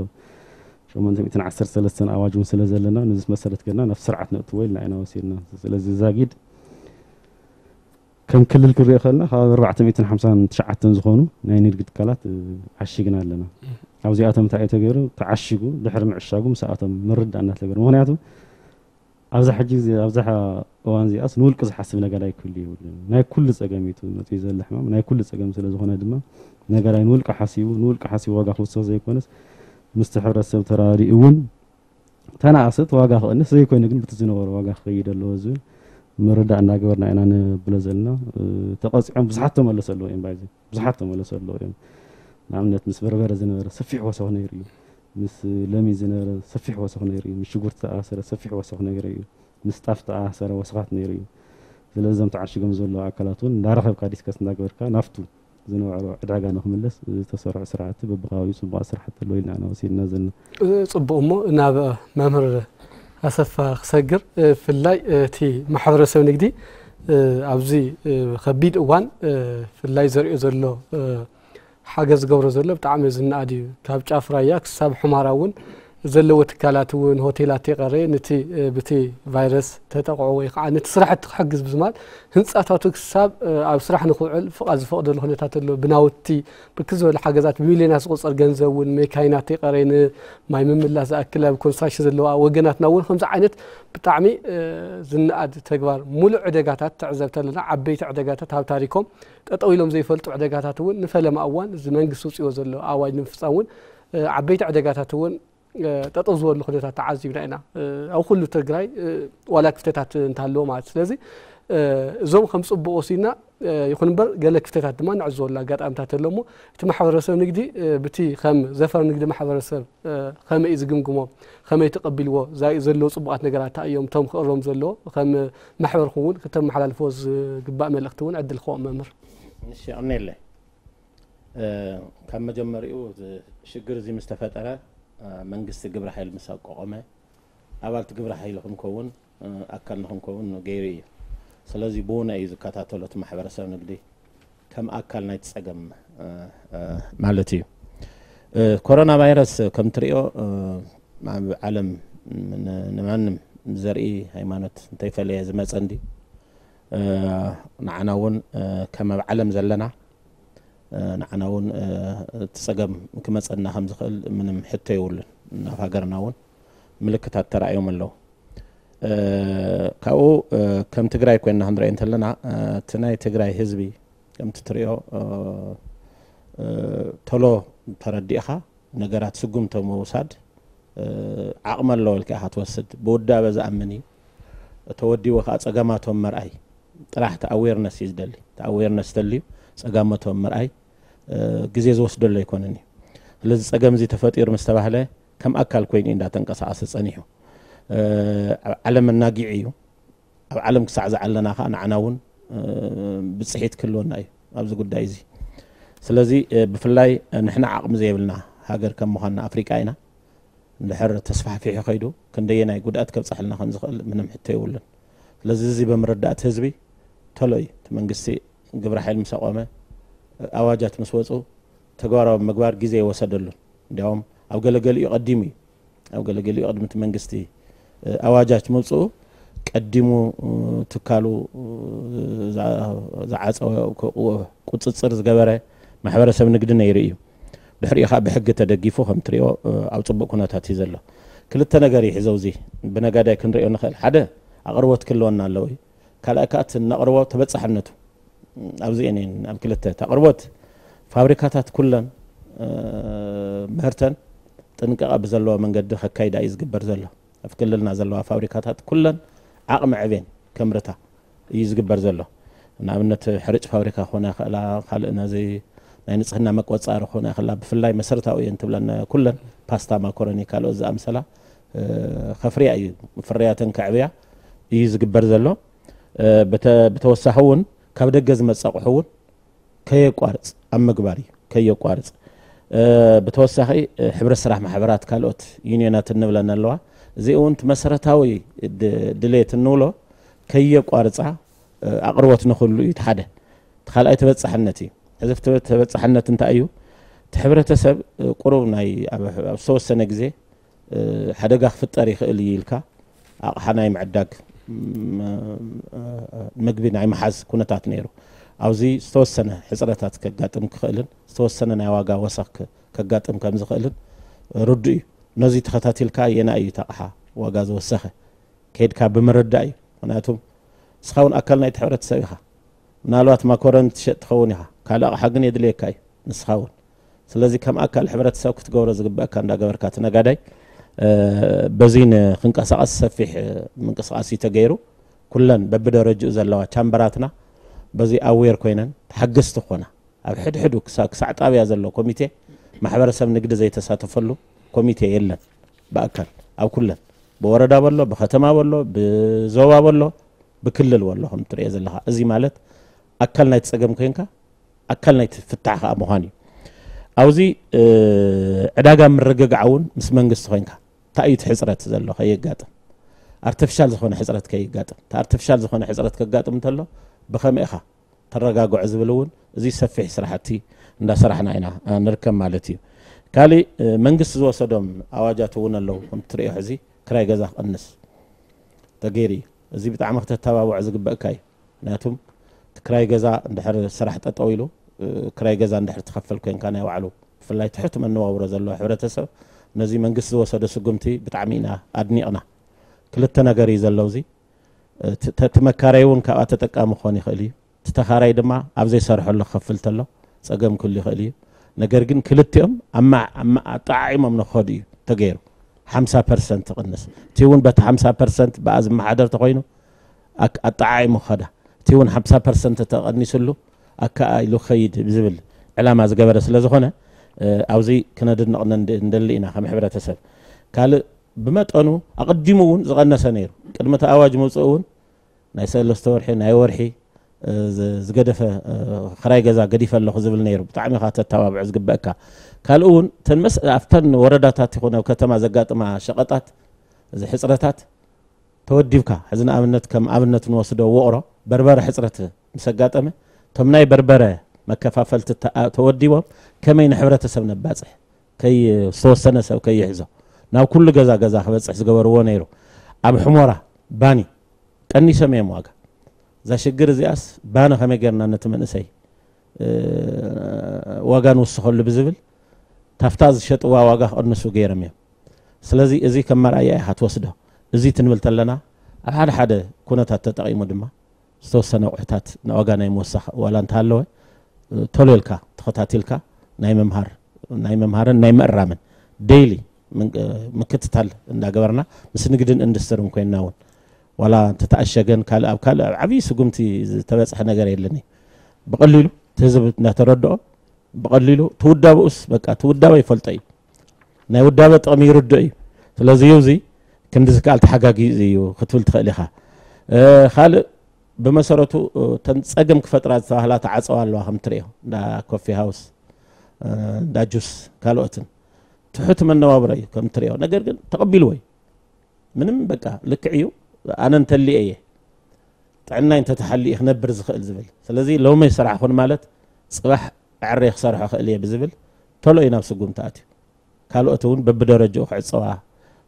ሸሞንተ ሚእትን ዓሰርተ ሰለስተን ኣዋጅ እውን ስለ ዘለና ነዚ መሰረት ገርና ናብ ስርዓት ነእትዎ ኢልና ኢና ወሲድና። ስለዚ ዛጊድ ከም ክልል ክንሪኦ ከለና ካብ ኣርባዕተ ሚእትን ሓምሳን ትሽዓተን ዝኾኑ ናይ ንግዲ ትካላት ዓሺግና ኣለና። ኣብዚኣቶም እንታይ እዩ ተገይሩ? ተዓሺጉ ድሕሪ ምዕሻጉ ምስኣቶም ምርዳእ እናተገይሩ። ምክንያቱ ኣብዛ ሕጂ ግዜ ኣብዛ እዋን እዚኣስ ንውልቂ ዝሓስብ ነጋዳይ ክህሉ የብሉን። ናይ ኩሉ ፀገም እዩ መፅኡ ዘሎ ሕማም ናይ ኩሉ ፀገም ስለ ዝኾነ ድማ ነጋዳይ ንውልቂ ሓሲቡ ንውልቂ ሓሲቡ ዋጋ ክውስኽ ዘይኮነስ ምስቲ ሕብረተሰብ ተራዲኡ እውን ተናእሰት ዋጋ ክቕንስ ዘይኮይኑ ግን ብቲ ዝነበሩ ዋጋ ክኸይድ ኣለዎ ዝብል ምርዳእ እናገበርና ኢና ንብሎ ዘለና። ተቐፂዖም ብዙሓት ተመለሱ ኣለዎ እዮም ባይዚ ብዙሓት ተመለሱ ኣለዎ እዮም። ንኣብነት ምስ በርበረ ዝነበረ ሰፊሕ ወሰኽ ነይሩ እዩ። ምስ ለሚ ዝነበረ ሰፊሕ ወሰኽ ነይሩ እዩ። ምስ ሽጉርቲ ተኣሰረ ሰፊሕ ወሰኽ ነይሩ እዩ። ምስ ጣፍ ተኣሰረ ወሰኻት ነይሩ እዩ። ስለዚ እዞም ተዓሽጎም ዘለዉ ኣካላት እውን እንዳረኸብካ ዲስከስ እንዳገበርካ ናፍቱ ዝነበሮ ዕዳጋ ንክምለስ ዝተሰርሑ ስራሕቲ በብከባቢኡ ፅቡቃት ስራሕቲ ኣለዉ ኢልና ኢና ወሲድና ዘለና። ፅቡቅ እሞ ናብ መምህር ኣሰፋ ክሰግር ብፍላይ እቲ ማሕበረሰብ ንግዲ ኣብዚ ከቢድ እዋን ብፍላይ ዘሪኦ ዘሎ ሓገዝ ዝገብሮ ዘሎ ብጣዕሚ ዝነኣድ እዩ። ካብ ጫፍ ራያ ክሳብ ሑማራ እውን ዘለዎ ትካላት እውን ሆቴላት የቀረየ ነቲ ብቲ ቫይረስ ተጠቕዖ ወይ ከዓ ነቲ ስራሕቲ ክሕግዝ ብዝማል ህንፃታቱ ክሳብ ኣብ ስራሕ ንክውዕል ፍቓድ ዝፈቕደሉ ኩነታት ኣሎ። ብናውቲ ብርክት ዝበለ ሓገዛት ብሚልዮናት ዝቁፀር ገንዘብ እውን ሜካይናት የቀረየ ንማይ ምምላስ ዝኣክል ኣብ ኮንስትራክሽን ዘለዋ ወገናትና እውን ከምዚ ዓይነት ብጣዕሚ ዝነኣድ ተግባር ሙሉእ ዕደጋታት ትዕዘብ ተለና ዓበይቲ ዕደጋታት ኣብ ታሪኮም ጠጠው ኢሎም ዘይፈልጡ ዕደጋታት እውን ንፈለማ እዋን እዚ መንግስቲ ውፅዎ ዘሎ ኣዋጅ ንምፍፃም እውን ዓበይቲ ዕደጋታት እውን ጠጠው ዝበሉ ኩነታት ተዓዚብና ኢና። ኣብ ኩሉ ትግራይ ዋላ ክፍተታት እንተሃለዎ ማለት ስለዚ እዞም ከም ፅቡቅ ወሲድና ይኹን እምበር ገለ ክፍተታት ድማ ንዕዘበሉ ኣጋጣሚታት ኣሎ እሞ እቲ ማሕበረሰብ ንግዲ ብቲ ከም ዘፈር ንግዲ ማሕበረሰብ ከመይ እዩ ዝግምግሞ ከመይ ተቐቢልዎ ዘለዉ ፅቡቃት ነገራት እንታይ እዮም እቶም ክእረሙ ዘለዎ ከም ማሕበርኩም እውን ክተመሓላልፍዎ ዝግባእ መልእኽቲ እውን ዕድል ክህቦም መምህር። እሺ ኣምነየለይ ካብ መጀመሪኡ ሽግር እዚ ምስ ተፈጠረ መንግስቲ ግብረ ሓይል ምስ ኣቋቖመ ኣባልቲ ግብረ ሓይሊ ክንከውን ኣካል ንክንከውን ገይሩ እዩ። ስለዚ ብውነ እዩ ዝከታተሎ እቲ ማሕበረሰብ ንግዲ ከም ኣካል ናይቲ ፀገም ማለት እዩ። ኮሮና ቫይረስ ከም ትሪኦ ኣብ ዓለም ንማንም ዘርኢ ሃይማኖት እንተይፈለየ ዝመፀ እንዲ ንዓና እውን ከም ኣብ ዓለም ዘለና ንዓና እውን እቲ ፀገም ክመፀና ከም ዝኽእል ምንም ሕቶ የብሉን። ኣብ ሃገርና እውን ምልክታት ተራእዮም ኣለዉ። ካብኡ ከም ትግራይ ኮይና ክንሪኦ እንተለና፣ እቲ ናይ ትግራይ ህዝቢ ከምቲ ትሪኦ ቶሎ ተረዲእኻ ነገራት ስጉምቶ ምውሳድ ዓቕሚ ኣለዎ ኢልካ ኢኻ ትወስድ። ብውዳበ ዝኣምን እዩ። ተወዲቡ ከዓ ጸገማቶም መርኣይ ጥራሕ፣ እቲ ኣዌርነስ እዩ ዝደሊ። እቲ ኣዌርነስ ተልዩ ጸጋመቶም ምርኣይ ግዜ ዝወስደሉ ኣይኮነን እዩ። ስለዚ ጸገም እዚ ተፈጢሩ ምስ ተባህለ ከም ኣካል ኮይኑ እዩ እንዳተንቀሳቐሰ ጸኒሑ። ኣብ ዓለም ኣናጊዑ እዩ። ኣብ ዓለም ክሳዕ ዝዓለና ከዓ ንዓና እውን ብፅሒት ክህልወና እዩ ኣብዚ ጉዳይ እዚ። ስለዚ ብፍላይ ንሕና ዓቕሚ ዘይብልና ሃገር ከም ምዃንና ኣፍሪቃ ኢና። እንድሕር ተስፋሕፊሑ ከይዱ ክንደየናይ ጉድኣት ከብፀሐልና ከም ዝኽእል ምንም ሕቶ የብሉን። ስለዚ እዚ ብምርዳእ እቲ ህዝቢ ተሎ እዩ እቲ መንግስቲ ግብረ ሓይል ምስ ኣቆመ ኣዋጃት ምስ ወፁ ተግባራዊ ምግባር ግዜ ይወሰደሉን። እንዲያውም ኣብ ገለገሊኡ ቀዲሙ እዩ ኣብ ገለገሊኡ ቅድሚ እቲ መንግስቲ ኣዋጃት ምውፅኡ ቀዲሙ ትካሉ ዝዓፀወ ቁፅፅር ዝገበረ ማሕበረሰብ ንግዲ ነይሩ እዩ። ድሕሪኡ ከዓ ብሕጊ ተደጊፉ ከም ትሪኦ ኣብ ፅቡቅ ኩነታት እዩ ዘሎ። ክልተ ነገር እዩ ሕዘው እዚ ብነጋዳይ ክንሪኦ ንኽእል። ሓደ ኣቅርቦት ክህልወና ኣለዎ እዩ። ካልኣይ ከዓ እቲ ነቅርቦ ተበፃሕነቱ ኣብዚ እኔን ኣብ ክልተ እቲ ኣቅርቦት ፋብሪካታት ኩለን ምህርተን ጥንቃቐ ብዘለዎ መንገዲ ከካይዳ እዩ ዝግበር ዘሎ። ኣብ ክልልና ዘለዋ ፋብሪካታት ኩለን ዓቕሚ ዕቤን ከምርታ እዩ ዝግበር ዘሎ። ንኣብነት ሕርጭ ፋብሪካ ክኾና ይኽእላ፣ ካልእ ነዚ ናይ ንፅህና መቆፃሪ ክኾና ይኽእላ። ብፍላይ መሰረታዊ እየን ትብለን ኩለን ፓስታ፣ ማኮረኒ፣ ካልኦት ዝኣምሰላ ከፍርያ እዩ፣ ፍርያተን ከዕብያ እዩ ዝግበር ዘሎ። ብተወሳኺ እውን ካብ ደገ ዝመፅ ኣቑሑ እውን ከየቋርፅ ኣብ ምግባር እዩ። ከየቋርፅ ብተወሳኺ ሕብረት ስራሕ ማሕበራት ካልኦት ዩኒየናት እንብለን ኣለዋ። እዚኡ እውን እቲ መሰረታዊ ድሌት እንብሎ ከየቋርፃ ኣቅርቦት ንክሉ እዩ። እቲ ሓደ እቲ ካልኣይ ተበፃሕነት እዩ። ሕዚ ተበፃሕነት እንታይ እዩ? እቲ ሕብረተሰብ ቁሩብ ናይ ኣብ ዝተወሰነ ግዜ ሓደጋ ክፍጠር ይኽእል እዩ ኢልካ ኣቕሓ ናይ ምዕዳግ ምግቢ ናይ ምሓዝ ኩነታት ነይሩ። ኣብዚ ዝተወሰነ ሕፅረታት ከጋጥም ክኽእልን ዝተወሰነ ናይ ዋጋ ወሰኽ ከጋጥም ከም ዝኽእልን ርዱእ እዩ። ነዚ ተኸታቲልካ የና እዩ እቲ ኣቕሓ ዋጋ ዝወሰኸ ከይድካ ብምርዳእ እዩ። ምክንያቱም ንስኻ እውን ኣካል ናይቲ ሕብረተሰብ ኢኻ። ምናልባት ማኮረን ትሸጥ ትኸውን ኢኻ፣ ካልእ ኣቕሓ ግን የድልየካ እዩ ንስኻ እውን። ስለዚ ከም ኣካል ሕብረተሰብ ክትገብሮ ዝግበእካ እንዳገበርካ እቲ ነጋዳይ በዚ ንክንቀሳቐስ ሰፊሕ ምንቅስቃስ እዩ ተገይሩ። ኩለን በብደረጅኡ ዘለዋ ቻምበራትና በዚ ኣዌር ኮይነን ተሓገዝቲ ክኾና ኣብ ሕድሕዱ ክሳዕ ጣብያ ዘሎ ኮሚቴ ማሕበረሰብ ንግዲ ዘይተሳተፈሉ ኮሚቴ የለን። ብኣካል ኣብ ኩለን ብወረዳ በሎ ብከተማ በሎ ብዞባ በሎ ብክልል በሎ ከም ትሪኦ ዘለኻ እዚ ማለት ኣካል ናይቲ ፀገም ኮይንካ ኣካል ናይቲ ፍታሕ ከዓ ምዃን እዩ። ኣብዚ ዕዳጋ ምርግጋዕ እውን ምስ መንግስቲ ኮይንካ እንታይ እዩ እቲ ሕፅረት ዘሎ ከየጋጥም ኣርተፍሻል ዝኾነ ሕፅረት ከየጋጥም እቲ ኣርተፍሻል ዝኾነ ሕፅረት ከጋጥም እንተሎ ብኸመይ ኢኻ ተረጋግዖ ዝብል እውን እዚ ሰፊሕ ስራሕቲ እንዳሰራሕና ኢና ንርከብ ማለት እዩ። ካሊእ መንግስቲ ዝወሰዶም ኣዋጃት እውን ኣለዉ ከም ትሪኦ ሕዚ ክራይ ገዛ ክቕንስ ተገይሩ እዩ። እዚ ብጣዕሚ ክተተባብዖ ዝግበእካ እዩ። ምክንያቱም እቲ ክራይ ገዛ እንድሕር ስራሕ ጠጠው ኢሉ ክራይ ገዛ እንድሕር ትኸፍል ኮይንካ ናይ ባዕሉ ብፍላይ ትሕቲ መነባብሮ ዘለዎ ሕብረተሰብ ነዚ መንግስቲ ዝወሰዶ ስጉምቲ ብጣዕሚ ኢና ኣድኒቕና። ክልተ ነገር እዩ ዘሎ እዚ እቲ መካረይ እውን ካብኣ ተጠቃሚ ክኾን ይኽእል እዩ። እቲ ተኻራይ ድማ ኣብ ዘይሰርሐሉ ክኸፍል ተሎ ፀገም ክህሉ ይኽእል እዩ። ነገር ግን ክልቲኦም ኣጠዓዒሞም ንክኸዱ እዩ ተገይሩ። ሓምሳ ፐርሰንት ትቕንስ እቲ እውን በቲ ሓምሳ ፐርሰንት ብኣ ዝመሓደር ተኾይኑ ኣጠዓዒሙ ክኸዳ እቲ እውን ሓምሳ ፐርሰንት ተቐኒስሉ ኣከኣ ኢሉ ክኸይድ ዝብል ዕላማ ዝገበረ ስለ ዝኾነ ኣብዚ ክነድንቕ እንደሊ ኢና ከም ሕብረተሰብ። ካልእ ብመጠኑ ኣቐዲሙ እውን ዝቐነሰ ነይሩ ቅድሚ እቲ ኣዋጅ ምውፅኡ እውን ናይ ሰለስተ ወርሒ ናይ ወርሒ ዝገደፈ ክራይ ገዛ ገዲፈ ኣለኹ ዝብል ነይሩ። ብጣዕሚ ኢኻ ተተባብዖ ዝግበእካ። ካልእ እውን እተን መስ ኣብተን ወረዳታት ይኹን ኣብ ከተማ ዘጋጥማ ሸቐጣት እዚ ሕፅረታት ተወዲብካ ሕዚ ንኣብነት ከም ኣብነት ንወስዶ ውቕሮ በርበረ ሕፅረት ምስ ኣጋጠመ እቶም ናይ በርበረ መከፋፈልቲ ተወዲቦም ከመይ ንሕብረተሰብ ነባፅሕ ከይ ዝተወሰነ ሰብ ከይሕዞ ናብ ኩሉ ገዛ ገዛ ክበፅሕ ዝገበርዎ ነይሩ። ኣብ ሕሞራ ባኒ ቀኒሶም እዮም ዋጋ። እዛ ሽግር እዚኣስ ባኒ ከመይ ጌርና ነቲ መንእሰይ ዋጋ ንውስኸሉ ብዝብል ታፍታ ዝሸጥዋ ዋጋ ክቕንሱ ገይሮም እዮም። ስለዚ እዚ ከም መርኣያ ኢኻ ትወስዶ። እዚ ትንብል ተለና ኣብ ሓደ ሓደ ኩነታት ተጠቒሙ ድማ ዝተወሰነ ኣቑሑታት ንዋጋ ናይ ምወሳኽ ዋላ እንተሃለወ፣ እ፣ ቶሎ ኢልካ ተኸታቲልካ ናይ ምምሃር ናይ ምምሃርን ናይ ምእራምን ዴይሊ ምንቅ-፣ ምክትታል እንዳገበርና ምስ ንግድን ኢንዱስትርን ኮይንና እውን ዋላ እንተተኣሸገን ካልእ ኣብ ካልእ ኣብ ዓብዪ ስጉምቲ ዝተበፅሐ ነገር የለን እዩ። ብቐሊሉ እቲ ህዝብ እንዳተረድኦ ብቐሊሉ ትውዳበኡስ በቃ ትውዳበ ይፈልጦ እዩ። ናይ ውዳበ ጥቕሚ ይርድኦ እዩ። ስለዚ እዩ እዚ ክንዲ ዝከኣል ተሓጋጊ እዩ ክትብል ትኽእል ኢኻ። እ፣ ካልእ ብመሰረቱ፣ እ፣ ተን ጸገም ክፈጥራ ዝተባህላ ተዓጸዋ ኣለዋ ከም ትርእዮ። እንዳ ኮፊ ሃውስ፣ እ፣ እንዳ ጁስ ካልኦትን። ትሑት መነባብሮ እዩ ከም ትርእዮ። ነገር ግን ተቐቢልዎ እዩ። ምንም በቃ ልክዕ እዩ። ኣነ እንተሊኤ እየ። ጥዕናይ እንተተሓሊኡ ክነብር ዝኽእል ዝብል። ስለዚ ሎሚ ሰራሕኹን ማለት ጽባሕ ኣዕሬ ክሰርሖ ክእል እየ ብዝብል ቶሎ እዩ ናብ ስጉምቲ ኣትዩ። ካልኦት እውን በብደረጃኡ ክዕጸዋ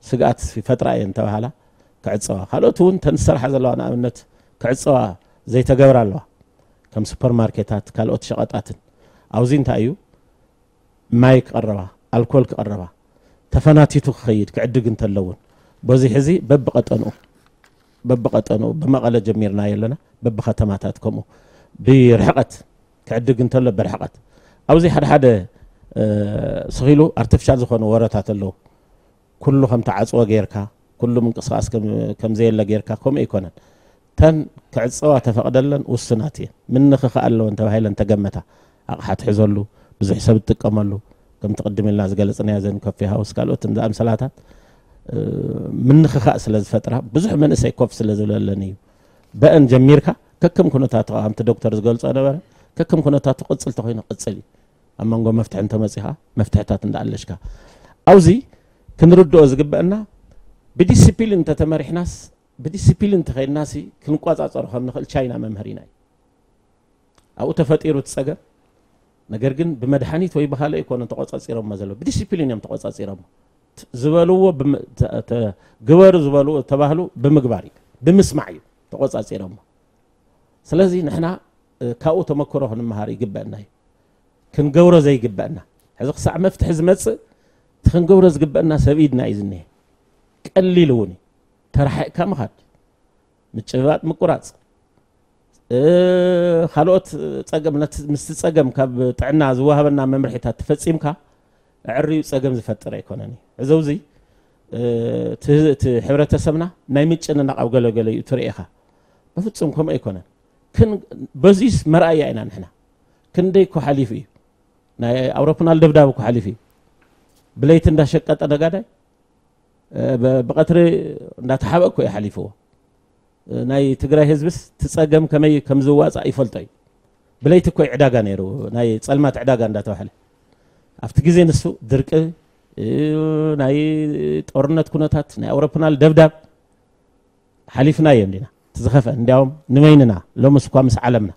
ስግኣት ይፈጥራ እየን እንተባሃላ ክዕጸዋ። ካልኦት እውን ተን ዝሰርሓ ዘለዋ ንኣብነት ክዕጸዋ ዘይተገብራ ኣለዋ። ከም ሱፐርማርኬታት፣ ካልኦት ሸቐጣትን። ኣብዚ እንታይ እዩ? ማይ ክቐረባ፣ ኣልኮል ክቐረባ፣ ተፈናቲቱ ክኸይድ ክዕድግ እንተለውን። በዚ ሕዚ በብቐጠንኡ፣ በብቐጠንኡ ብመቐለ ጀሚርናዮ ኣለና፣ በብኸተማታት ከምኡ ብርሕቐት ክዕድግ እንተሎ ብርሕቐት። ኣብዚ ሓደ ሓደ፣ እ፣ ስኺሉ ኣርቲፊሻል ዝኾኑ ወረታት ኣለዉ። ኩሉ ከም ተዓጽወ ጌርካ፣ ኩሉ ምንቅስቓስ ከም፣ ከም ዘየለ ጌርካ፣ ከምኡ ኣይኮነን። ተን ክዕጸዋ ተፈቕደለን ውሱናት እየን። ምንኽኻእ ኣለወን ተባሂለን ተገመታ። ኣቕሓ ትሕዘሉ፣ ብዙሕ ሰብ ትጥቀመሉ፣ ከምቲ ቅድም ኢልና ዝገለጽናዮ ዘን ኮፊ ሃውስ ካልኦትን ዝኣምሰላታት፣ እ፣ ምንኽኻእ ስለ ዝፈጥራ፣ ብዙሕ መንእሰይ ኮፍ ስለ ዝብለለን እዩ። በአን ጀሚርካ፣ ከከም ኩነታቱ፣ ከምቲ ዶክተር ዝገልጾ ነበረ፣ ከከም ኩነታቱ ቅጽል ተኾይኑ ቅጽል እዩ። ኣብ መንጎ መፍትሒ እንተመጺኻ፣ መፍትሕታት እንዳኣለሽካ። ኣብዚ ክንርድኦ ዝግበአና፣ ብዲሲፕሊን እንተተመሪሕናስ፣ ብዲሲፕሊን እንተኸይድናሲ፣ ክንቆጻጸሮ ከም ንኽእል ቻይና መምህሪና እዩ። ኣብኡ ተፈጢሩ እቲ ጸገም። ነገር ግን ብመድሓኒት ወይ ብኻልእ ኣይኮነን ተቆጻጺሮሞ ዘለዉ። ብዲሲፕሊን እዮም ተቆጻጺሮሞ። ት-፣ ዝበልዎ ብም-፣ ተ-፣ ተ-፣ ግበሩ ዝበልዎ ተባህሉ ብምግባር እዩ። ብምስማዕ እዩ ተቆጻጺሮሞ። ስለዚ ንሕና፣ እ፣ ካብኡ ተመክሮ ክንመሃር ይግበአና እዩ። ክንገብሮ ዘይግበአና። ሕዚ ክሳዕ መፍትሒ ዝመጽእ እቲ ክንገብሮ ዝግበአና ሰብ ኢድና እዩ ዝኒሀ። ቀሊል እውን እዩ። ተራሒቕካ ምኻድ፣ ምጭብባጥ ምቁራጽ፣ እ፣ ካልኦት ጸገም፣ ነቲ፣ ምስቲ ጸገም ካብ ጥዕና ዝወሃበና መምርሒታት ተፈጺምካ ኣዕርዩ ጸገም ዝፈጥር ኣይኮነን እዩ። እዚ ኣብዚ፣ እ፣ እቲ፣ እቲ ሕብረተሰብና ናይ ምጭንናቕ ኣብ ገለ ገለ እዩ ትርኢ ኢኻ። በፍጹም ከምኡ ኣይኮነን። ክን-፣ በዚስ መርኣያ ኢና ንሕና። ክንደይ እኮ ሓሊፉ እዩ። ናይ ኣውሮፕላን ደብዳብ እኮ ሓሊፉ እዩ። ብለይቲ እንዳሸቀጠ ነጋዳይ፣ እ፣ ብ-፣ ብቐትሪ እንዳተሓበ እኮ እዩ ሓሊፍዎ። እ፣ ናይ ትግራይ ህዝብስ እቲ ጸገም ከመይ ከም ዝዋጻእ ይፈልጦ እዩ። ብለይቲ እኮ እዩ ዕዳጋ ነይሩ፣ ናይ ጸልማት ዕዳጋ እንዳተባህለ። ኣብቲ ግዜ ንሱ ድርቂ፣ እ፣ ናይ ጦርነት ኩነታት፣ ናይ ኣውሮፕላን ደብዳብ ሓሊፍናዮ እንዲና። እቲ ዝኸፍአ እንዲያውም ንበይንና፣ ሎምስ እኳ ምስ ዓለምና፣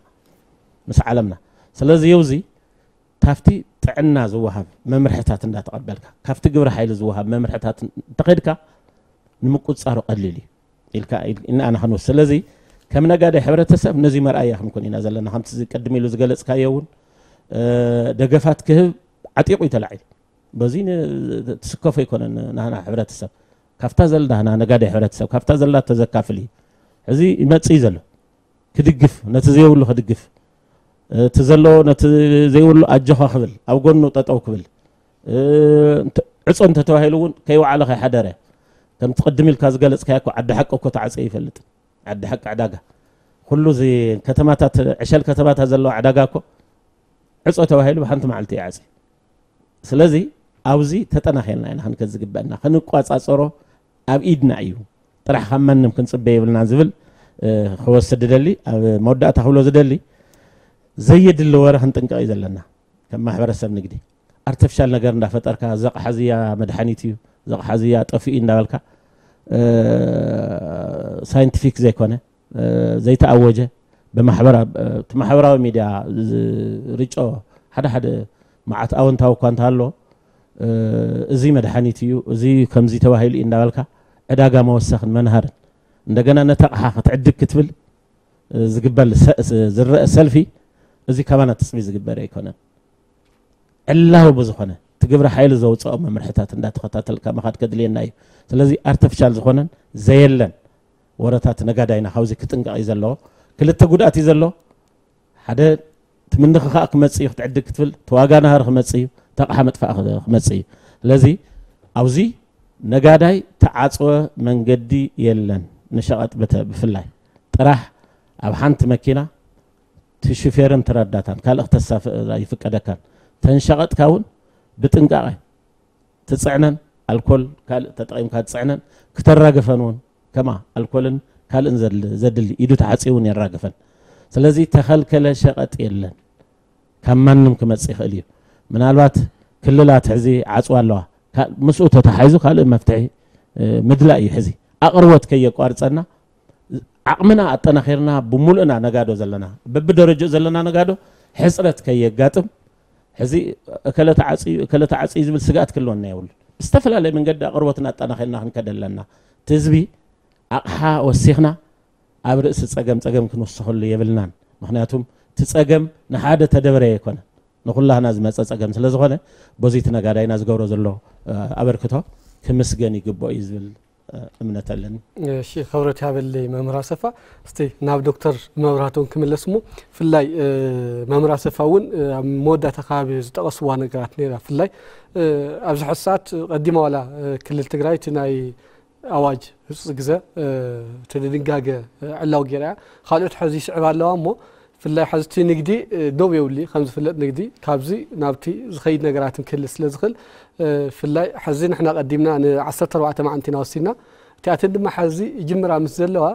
ምስ ዓለምና። ስለዚ የውዚ ካብቲ ጥዕና ዝወሃብ መምርሕታት እንዳተቐበልካ፣ ካብቲ ግብረ ሓይሊ ዝወሃብ መምርሕታት እንተኸድካ ንምቁጽጻሩ ቀሊል እዩ ኢልካ፣ ኢል-፣ ኢና ኣና ክንወስድ። ስለዚ ከም ነጋዳይ ሕብረተሰብ ነዚ መርኣያ ክንኮን ኢና ዘለና። ከምቲ እዚ ቅድም ኢሉ ዝገለጽካዮ እውን፣ እ፣ ደገፋት ክህብ ዓጢቑ እዩ ተላዒሉ። በዚ ን-፣ ትስከፎ ኣይኮነን ናህና ሕብረተሰብ። ካብታ ዘላ ናህና ነጋዳይ ሕብረተሰብ፣ ካብታ ዘላ ተዘካፍል እዩ። ሕዚ ይመጽእ እዩ ዘሎ። ክድግፍ፣ ነቲ ዘይብሉ ክድግፍ፣ እቲ ዘለዎ ነቲ ዘይብሉ ኣጆኻ ክብል፣ ኣብ ጎኑ ጠጠው ክብል፣ እ፣ እንተ-፣ ዕጾ እንተተባሂሉ እውን ከይወዓለ ከይሓደረ፣ ከምቲ ቅድም ኢልካ ዝገለጽካዮ እኮ ዓዲ ሓቂ እኮ ተዓጽዩ ይፈልጥ። ዓዲ ሓቂ ዕዳጋ። ኩሉ እዚ ከተማታት፣ ዕሸል ከተማታት ዘለዋ ዕዳጋ እኮ ዕጾ ተባሂሉ ብሓንቲ መዓልቲ ይዓጽ። ስለዚ ኣብዚ ተጠናኺርና ኢና ክንከድ ዝግበአና። ክንቋጻጸሮ ኣብ ኢድና እዩ። ጥራሕ ካብ ማንም ክንጽበ የብልና ዝብል፣ እ፣ ክወስድ ዝደሊ፣ ኣብ መወዳእታ ክብሎ ዝደሊ፣ ዘየድሊ ወረ ክንጥንቀቕ እዩ ዘለና። ከም ማሕበረሰብ ንግዲ ኣርቲፊሻል ነገር እንዳፈጠርካ፣ "ዘቕሓ እዚያ መድሓኒት እዩ፣ ዘቕሓ እዚያ ጠፊኡ" እንዳበልካ፣ እ፣ ሳይንቲፊክ ዘይኮነ፣ እ፣ ዘይተኣወጀ፣ ብማሕበራ-፣ እ፣ እቲ ማሕበራዊ ሚድያ ዝርጮ ሓደ ሓደ መዓት ኣወንታዊ እኳ እንተሃሎ፣ እ፣ "እዚ መድሓኒት እዩ፣ እዚ ከምዚ ተባሂሉ እዩ" እንዳበልካ ዕዳጋ መወሰኽን መንሃርን፣ እንደገና ነቲ ኣቕሓ ክትዕድግ ክትብል፣ እ፣ ዝግበር ሰ-፣ ስ-፣ ዝረአ ሰልፊ፣ እዚ ካባና ትጽቢ ዝግበር ኣይኮነን። ዕላዊ ብዝኾነ፣ ግብረ ሓይሊ ዘውፅኦ መምርሕታት እንዳተኸታተልካ ምኻድ ከድልየና እዩ። ስለዚ ኣርቲፊሻል ዝኾነን ዘየለን ወረታት ነጋዳይና ካብዚ ክጥንቀቕ እዩ ዘለዎ። ክልተ ጉድኣት እዩ ዘለዎ። ሓደ ትምንኺ ከዓ ክመጽእ እዩ፣ ክትዕድግ ክትብል ተዋጋ ናሃሪ ክመጽእ እዩ፣ ተቕሓ መጥፋእ ክመጽእ እዩ። ስለዚ ኣብዚ ነጋዳይ ተዓጽወ መንገዲ የለን። ንሸቐጥ ብተ- ብፍላይ ጥራሕ ኣብ ሓንቲ መኪና እቲ ሹፌርን ተረዳታን ካልእ ክተሳፍር ኣይፍቀደካን። ተንሸቐጥካ እውን ብጥንቃቐ ትጽዕነን፣ ኣልኮል ካልእ ተጠቒምካ ትጽዕነን፣ ክተራግፈን እውን ከማ ኣልኮልን ካልእን ዘድሊ ኢዱ ተሓጺቡ እውን የራግፈን። ስለዚ ተኸልከለ ሸቐጥ የለን። ካብ ማንም ክመጽእ ይኽእል እዩ። ምናልባት ክልላት ሕዚ ዓጽዋ ኣለዋ። ምስኡ ተተሓሒዙ ካልእ መፍትሒ ምድላእ እዩ። ሕዚ ኣቕርቦት ከየቋርጸና ዓቕምና ኣጠናኺርና ብምሉእና ነጋዶ ዘለና በብደረጃኡ ዘለና ነጋዶ ሕፅረት ከየጋጥም ሕዚ እከለ ተዓፅዩ እከለ ተዓፅዩ ዝብል ስግኣት ክህልወና የብሉን። ብዝተፈላለየ መንገዲ ኣቕርቦትና ኣጠናኺርና ክንከድ ኣለና። እቲ ህዝቢ ኣቕሓ ወሲኽና ኣብ ርእሲ ፀገም ፀገም ክንውስኸሉ የብልናን። ምክንያቱም እቲ ፀገም ንሓደ ተደበረ ኣይኮነን፣ ንኹላህና ዝመፀ ፀገም ስለ ዝኾነ በዚ እቲ ነጋዳይና ዝገብሮ ዘሎ ኣበርክቶ ክምስገን ይግብኦ እዩ ዝብል እምነት ኣለኒ። እሺ፣ ክብረት ያበለይ መምህር ኣሰፋ። እስቲ ናብ ዶክተር መብራህቶም ክምለስ እሞ፣ ፍላይ መምህር ኣሰፋ እውን ኣብ መወዳእታ ከባቢ ዝጠቐስዋ ነገራት ነይራ። ፍላይ ኣብዚ ሕሳት ቀዲማ ዋላ ክልል ትግራይ እቲ ናይ ኣዋጅ ህፁፅ ግዘ እቲ ድንጋገ ዕላው ገይራ እያ። ካልኦት ሕዚ ይስዕብ ኣለዋ እሞ ፍላይ ሕዚ እቲ ንግዲ ደው የብሉ ከም ዝፍለጥ ንግዲ ካብዚ ናብቲ ዝኸይድ ነገራትን ክህል ስለ ዝኽእል ፍላይ ሕዚ ንሕና ቀዲምና ን ዓሰርተ ኣርባዕተ መዓልቲ ኢና ወሲድና። እቲኣተን ድማ ሕዚ ይጅምራ ምስ ዘለዋ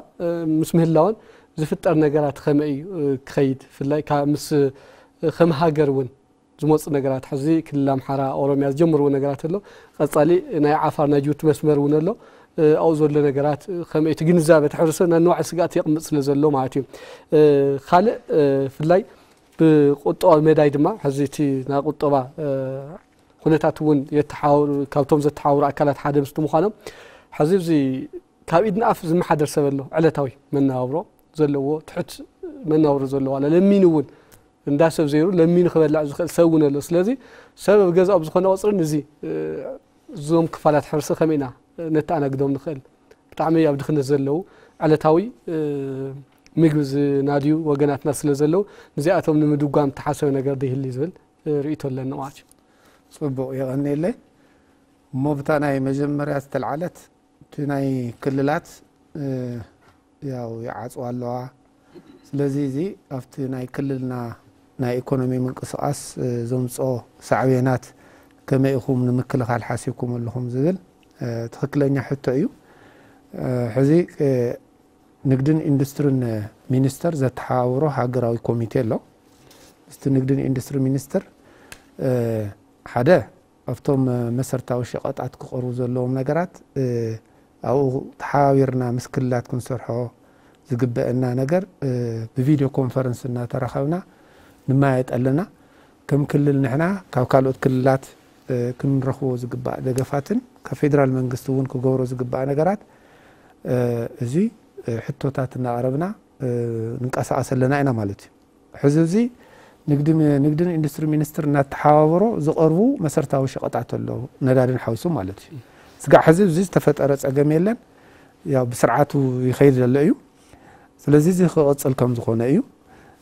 ምስ ምህላወን ዝፍጠር ነገራት ከመይ እዩ ክኸይድ ፍላይ ምስ ከም ሃገር እውን ዝመፁ ነገራት ሕዚ ክልል ኣምሓራ ኦሮሚያ ዝጀምርዎ ነገራት ኣሎ። ቀፃሊ ናይ ዓፋር ናይ ጅቡቲ መስመር እውን ኣሎ። ኣብኡ ዘሎ ነገራት ከመይ እቲ ግንዛበ እቲ ሕብረተሰብ ናይ ንዋዕ ስግኣት የቕምጥ ስለ ዘሎ ማለት እዩ። ካልእ ፍላይ ብቁጠባዊ መዳይ ድማ ሕዚ እቲ ናይ ቁጠባ ኩነታት እውን የተሓውሩ ካብቶም ዘተሓውሩ ኣካላት ሓደ ምስቲ ምዃኖም ሕዚ እዚ ካብ ኢድ ንኣፍ ዝመሓደር ሰብ ኣሎ ዕለታዊ መነባብሮ ዘለዎ ትሑት መነባብሮ ዘለዎ ኣለ ለሚኑ እውን እንዳ ሰብ ዘይሩ ለሚኑ ክበልዕ ዝኽእል ሰብ እውን ኣሎ። ስለዚ ሰብ ኣብ ገዛኡ ብዝኾነ ቁፅርን እዚ እዞም ክፋላት ሕብረተሰብ ከመይ ኢና ነተኣናግዶም ንኽእል? ብጣዕሚ ኣብ ድኽነት ዘለዉ ዕለታዊ ምግቢ ዝናድዩ ወገናትና ስለ ዘለዉ ንዚኣቶም ንምድጓም ተሓሰበ ነገር ዶ ይህሊ ዝብል ርእይቶ ኣለኒ ማለት እዩ። ፅቡቕ የቐንየለይ። እሞ ብታ ናይ መጀመርያ ዝተልዓለት እቲ ናይ ክልላት ያው ይዓፅዋ ኣለዋ። ስለዚ እዚ ኣብቲ ናይ ክልልና ናይ ኢኮኖሚ ምንቅስቃስ ዘምፅኦ ሳዕቤናት ከመይ ኢኹም ንምክልኻል ሓሲብኩም ኣለኹም ዝብል ትኽክለኛ ሕቶ እዩ። ሕዚ ንግድን ኢንዱስትሪን ሚኒስተር ዘተሓባብሮ ሃገራዊ ኮሚቴ ኣሎ። ምስቲ ንግድን ኢንዱስትሪ ሚኒስትር ሓደ ኣብቶም መሰረታዊ ሸቐጣት ክቐርቡ ዘለዎም ነገራት ኣብኡ ተሓባቢርና ምስ ክልላት ክንሰርሖ ዝግበአና ነገር ብቪድዮ ኮንፈረንስ እናተራኸብና ንመያየጥ ኣለና። ከም ክልል ንሕና ካብ ካልኦት ክልላት ክንረኽቦ ዝግባእ ደገፋትን ካብ ፌደራል መንግስቲ እውን ክገብሮ ዝግባእ ነገራት እዚ ሕቶታት እናቕረብና ንንቀሳቐስ ኣለና ኢና ማለት እዩ። ሕዚ እዚ ንግድን ኢንዱስትሪ ሚኒስትር እናተሓባበሮ ዝቐርቡ መሰረታዊ ሸቐጣት ኣለዉ፣ ነዳድን ሓዊሱ ማለት እዩ። ስጋዕ ሕዚ እዚ ዝተፈጠረ ፀገም የለን፣ ያው ብስርዓቱ ይኸይድ ዘሎ እዩ። ስለዚ እዚ ክቕፅል ከም ዝኾነ እዩ።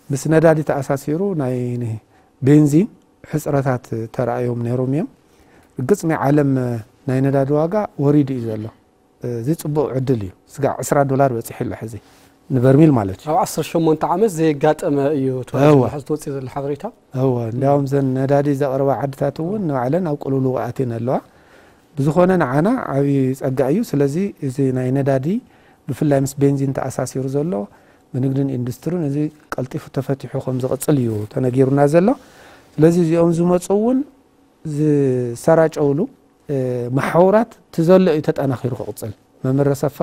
ምስ ነዳዲ ተኣሳሲሩ ናይ ቤንዚን ሕፅረታት ተራእዮም ነይሮም እዮም። ርግፅ ናይ ዓለም ናይ ነዳዲ ዋጋ ወሪዱ እዩ ዘሎ። እዚ ፅቡቕ ዕድል እዩ። ስጋዕ ዕስራ ዶላር በፂሑ ኣሎ ሕዚ ንበርሚል ማለት እዩ። ኣብ ዓሰርተ ሸሞንተ ዓመት ዘየጋጠመ እዩ ተባሂሉ ዘሎ ሕዚ ተወፅኡ ዘሎ ሓበሬታ። እወ እንዲያውም ዘን ነዳዲ ዘቕርባ ዓድታት እውን ንባዕለን ኣብ ቅልውልው ኣትየን ኣለዋ። ብዝኾነ ንዓና ዓብዪ ፀጋ እዩ። ስለዚ እዚ ናይ ነዳዲ ብፍላይ ምስ ቤንዚን ተኣሳሲሩ ዘሎ ብንግድን ኢንዱስትሪን እዚ ቀልጢፉ ተፈቲሑ ከም ዝቕፅል እዩ ተነጊሩና ዘሎ። ስለዚ እዚኦም ዝመፁ እውን ዝሰራጨውሉ መሓውራት እቲ ዘሎ እዩ ተጠናኺሩ ክቕፅል። መምህር ኣሰፋ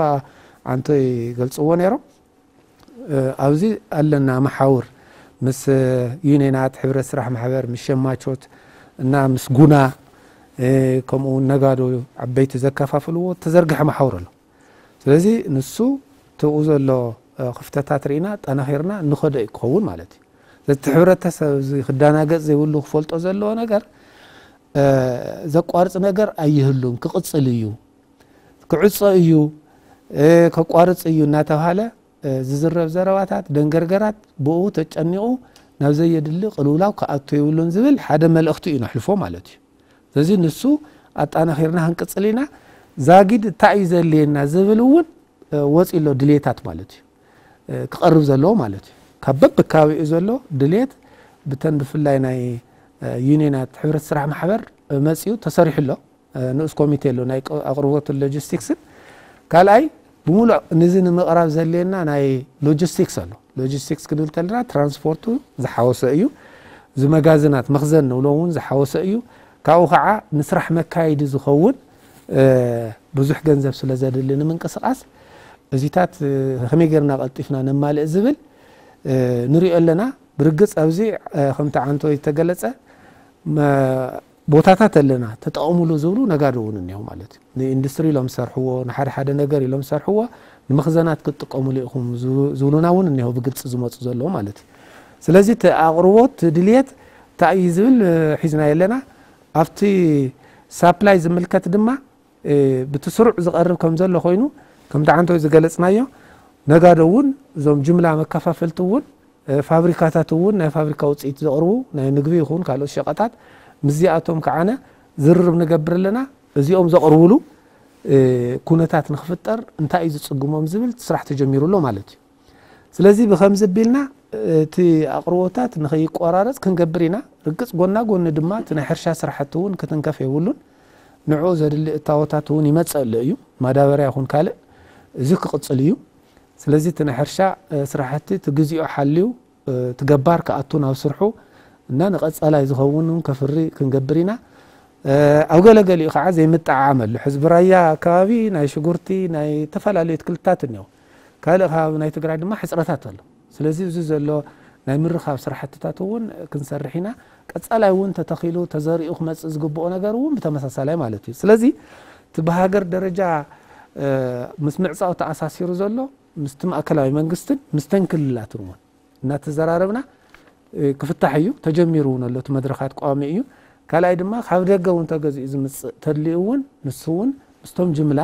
ዓንቶ ይገልፅዎ ነይሮም። ኣብዚ ኣለና መሓውር ምስ ዩኒየናት፣ ሕብረት ስራሕ ማሕበር፣ ምስ ሸማቾት እና ምስ ጉና ከምኡ እውን ነጋዶ ዓበይቲ ዘከፋፍልዎ ተዘርግሐ መሓውር ኣሎ። ስለዚ ንሱ ተኡ ዘሎ ክፍተታት ርኢና ጠናኺርና ንኸዶ እዩ ክኸውን ማለት እዩ። ዘቲ ሕብረተሰብ እዚ ክዳናገፅ ዘይብሉ ክፈልጦ ዘለዎ ነገር ዘቋርጽ ነገር ኣይህሉን፣ ክቕጽል እዩ፣ ክዕጾ እዩ፣ ከቋርጽ እዩ እናተባሃለ ዝዝረብ ዘረባታት፣ ደንገርገራት ብኡ ተጨኒቑ ናብ ዘየድሊ ቅልውላው ክኣቱ የብሉን ዝብል ሓደ መልእኽቲ እዩ ነሕልፎ ማለት እዩ። ስለዚ ንሱ ኣጣናኺርና ክንቅጽል ኢና። ዛጊድ እንታይ እዩ ዘድልየና ዝብል እውን ወፂ ኣሎ ድልየታት ማለት እዩ፣ ክቐርብ ዘለዎ ማለት እዩ። ካብ በብከባቢኡ ዘሎ ድልየት ብተን ብፍላይ ናይ ዩኒየናት ሕብረት ስራሕ ማሕበር መፂኡ ተሰሪሑ ኣሎ። ንኡስ ኮሚቴ ኣሎ ናይ ኣቕርቦትን ሎጂስቲክስን። ካልኣይ ብሙሉእ ንዚ ንምቕራብ ዘድልየና ናይ ሎጂስቲክስ ኣሎ። ሎጂስቲክስ ክንብል ከለና ትራንስፖርቱ ዝሓወሰ እዩ። እዚ መጋዝናት መኽዘን ንብሎ እውን ዝሓወሰ እዩ። ካብኡ ከዓ ንስራሕ መካየዲ ዝኸውን ብዙሕ ገንዘብ ስለ ዘድሊ ንምንቅስቃስ እዚታት ከመይ ጌርና ቀልጢፍና ነማልእ ዝብል ንሪኦ ኣለና። ብርግፅ ኣብዚ ከምቲ ዓንቶ ዝተገለፀ ቦታታት ኣለና ተጠቐሙሉ ዝብሉ ነጋዶ እውን እኒሆ ማለት እዩ። ንኢንዱስትሪ ኢሎም ዝሰርሕዎ፣ ንሓደ ሓደ ነገር ኢሎም ዝሰርሕዎ፣ ንመኽዘናት ክትጥቀሙሉ ኢኹም ዝብሉና እውን እኒሆ ብግልፂ ዝመፁ ዘለዉ ማለት እዩ። ስለዚ እቲ ኣቕርቦት ድልየት እንታይ እዩ ዝብል ሒዝና የለና። ኣብቲ ሳፕላይ ዝምልከት ድማ ብቲ ስሩዕ ዝቐርብ ከም ዘሎ ኮይኑ ከምቲ ዓንቶ ዝገለፅናዮ ነጋዶ እውን እዞም ጅምላ መከፋፈልቲ እውን ፋብሪካታት እውን ናይ ፋብሪካ ውፅኢት ዘቕርቡ ናይ ምግቢ ይኹን ካልኦት ሸቐጣት ምስዚኣቶም ከዓነ ዝርርብ ንገብር ኣለና። እዚኦም ዘቕርብሉ ኩነታት ንክፍጠር እንታይ እዩ ዝፅግሞም ዝብል ስራሕ ተጀሚሩ ኣሎ ማለት እዩ። ስለዚ ብከምዚ ኣቢልና እቲ ኣቕርቦታት ንከይቆራረፅ ክንገብር ኢና። ርግፅ ጎና ጎኒ ድማ እቲ ናይ ሕርሻ ስራሕቲ እውን ክትንከፍ የብሉን። ንዕኡ ዘድሊ እታወታት እውን ይመፅእ ኣሎ እዩ፣ ማዳበርያ ይኹን ካልእ፣ እዚ ክቕፅል እዩ። ስለዚ እቲ ናይ ሕርሻ ስራሕቲ እቲ ግዚኡ ሓልዩ እቲ ገባር ክኣቱ ናብ ስርሑ እና ንቐፃላይ ዝኸውን እውን ከፍሪ ክንገብር ኢና። ኣብ ገለገሊኡ ከዓ ዘይምጠዓዓም ኣሎ። ሕዚ ብራያ ኣከባቢ ናይ ሽጉርቲ ናይ ዝተፈላለዩ ኣትክልትታት እኒኦ፣ ካልእ ከባቢ ናይ ትግራይ ድማ ሕፅረታት ኣሎ። ስለዚ እዚ ዘሎ ናይ ምርኻብ ስራሕትታት እውን ክንሰርሕ ኢና። ቀፃላይ እውን ተተኺሉ ተዘሪኡ ክመፅእ ዝግብኦ ነገር እውን ብተመሳሳላይ ማለት እዩ። ስለዚ እቲ ብሃገር ደረጃ ምስ ምዕፃው ተኣሳሲሩ ዘሎ ምስቲ ማእከላዊ መንግስትን ምስተን ክልላትን እውን እናተዘራረብና ክፍታሕ እዩ። ተጀሚሩ እውን ኣሎ፣ እቲ መድረኻት ቀዋሚ እዩ። ካልኣይ ድማ ካብ ደገ እውን ተገዚኡ ዝምፅእ ተድልዩ እውን ንሱ እውን ምስቶም ጅምላ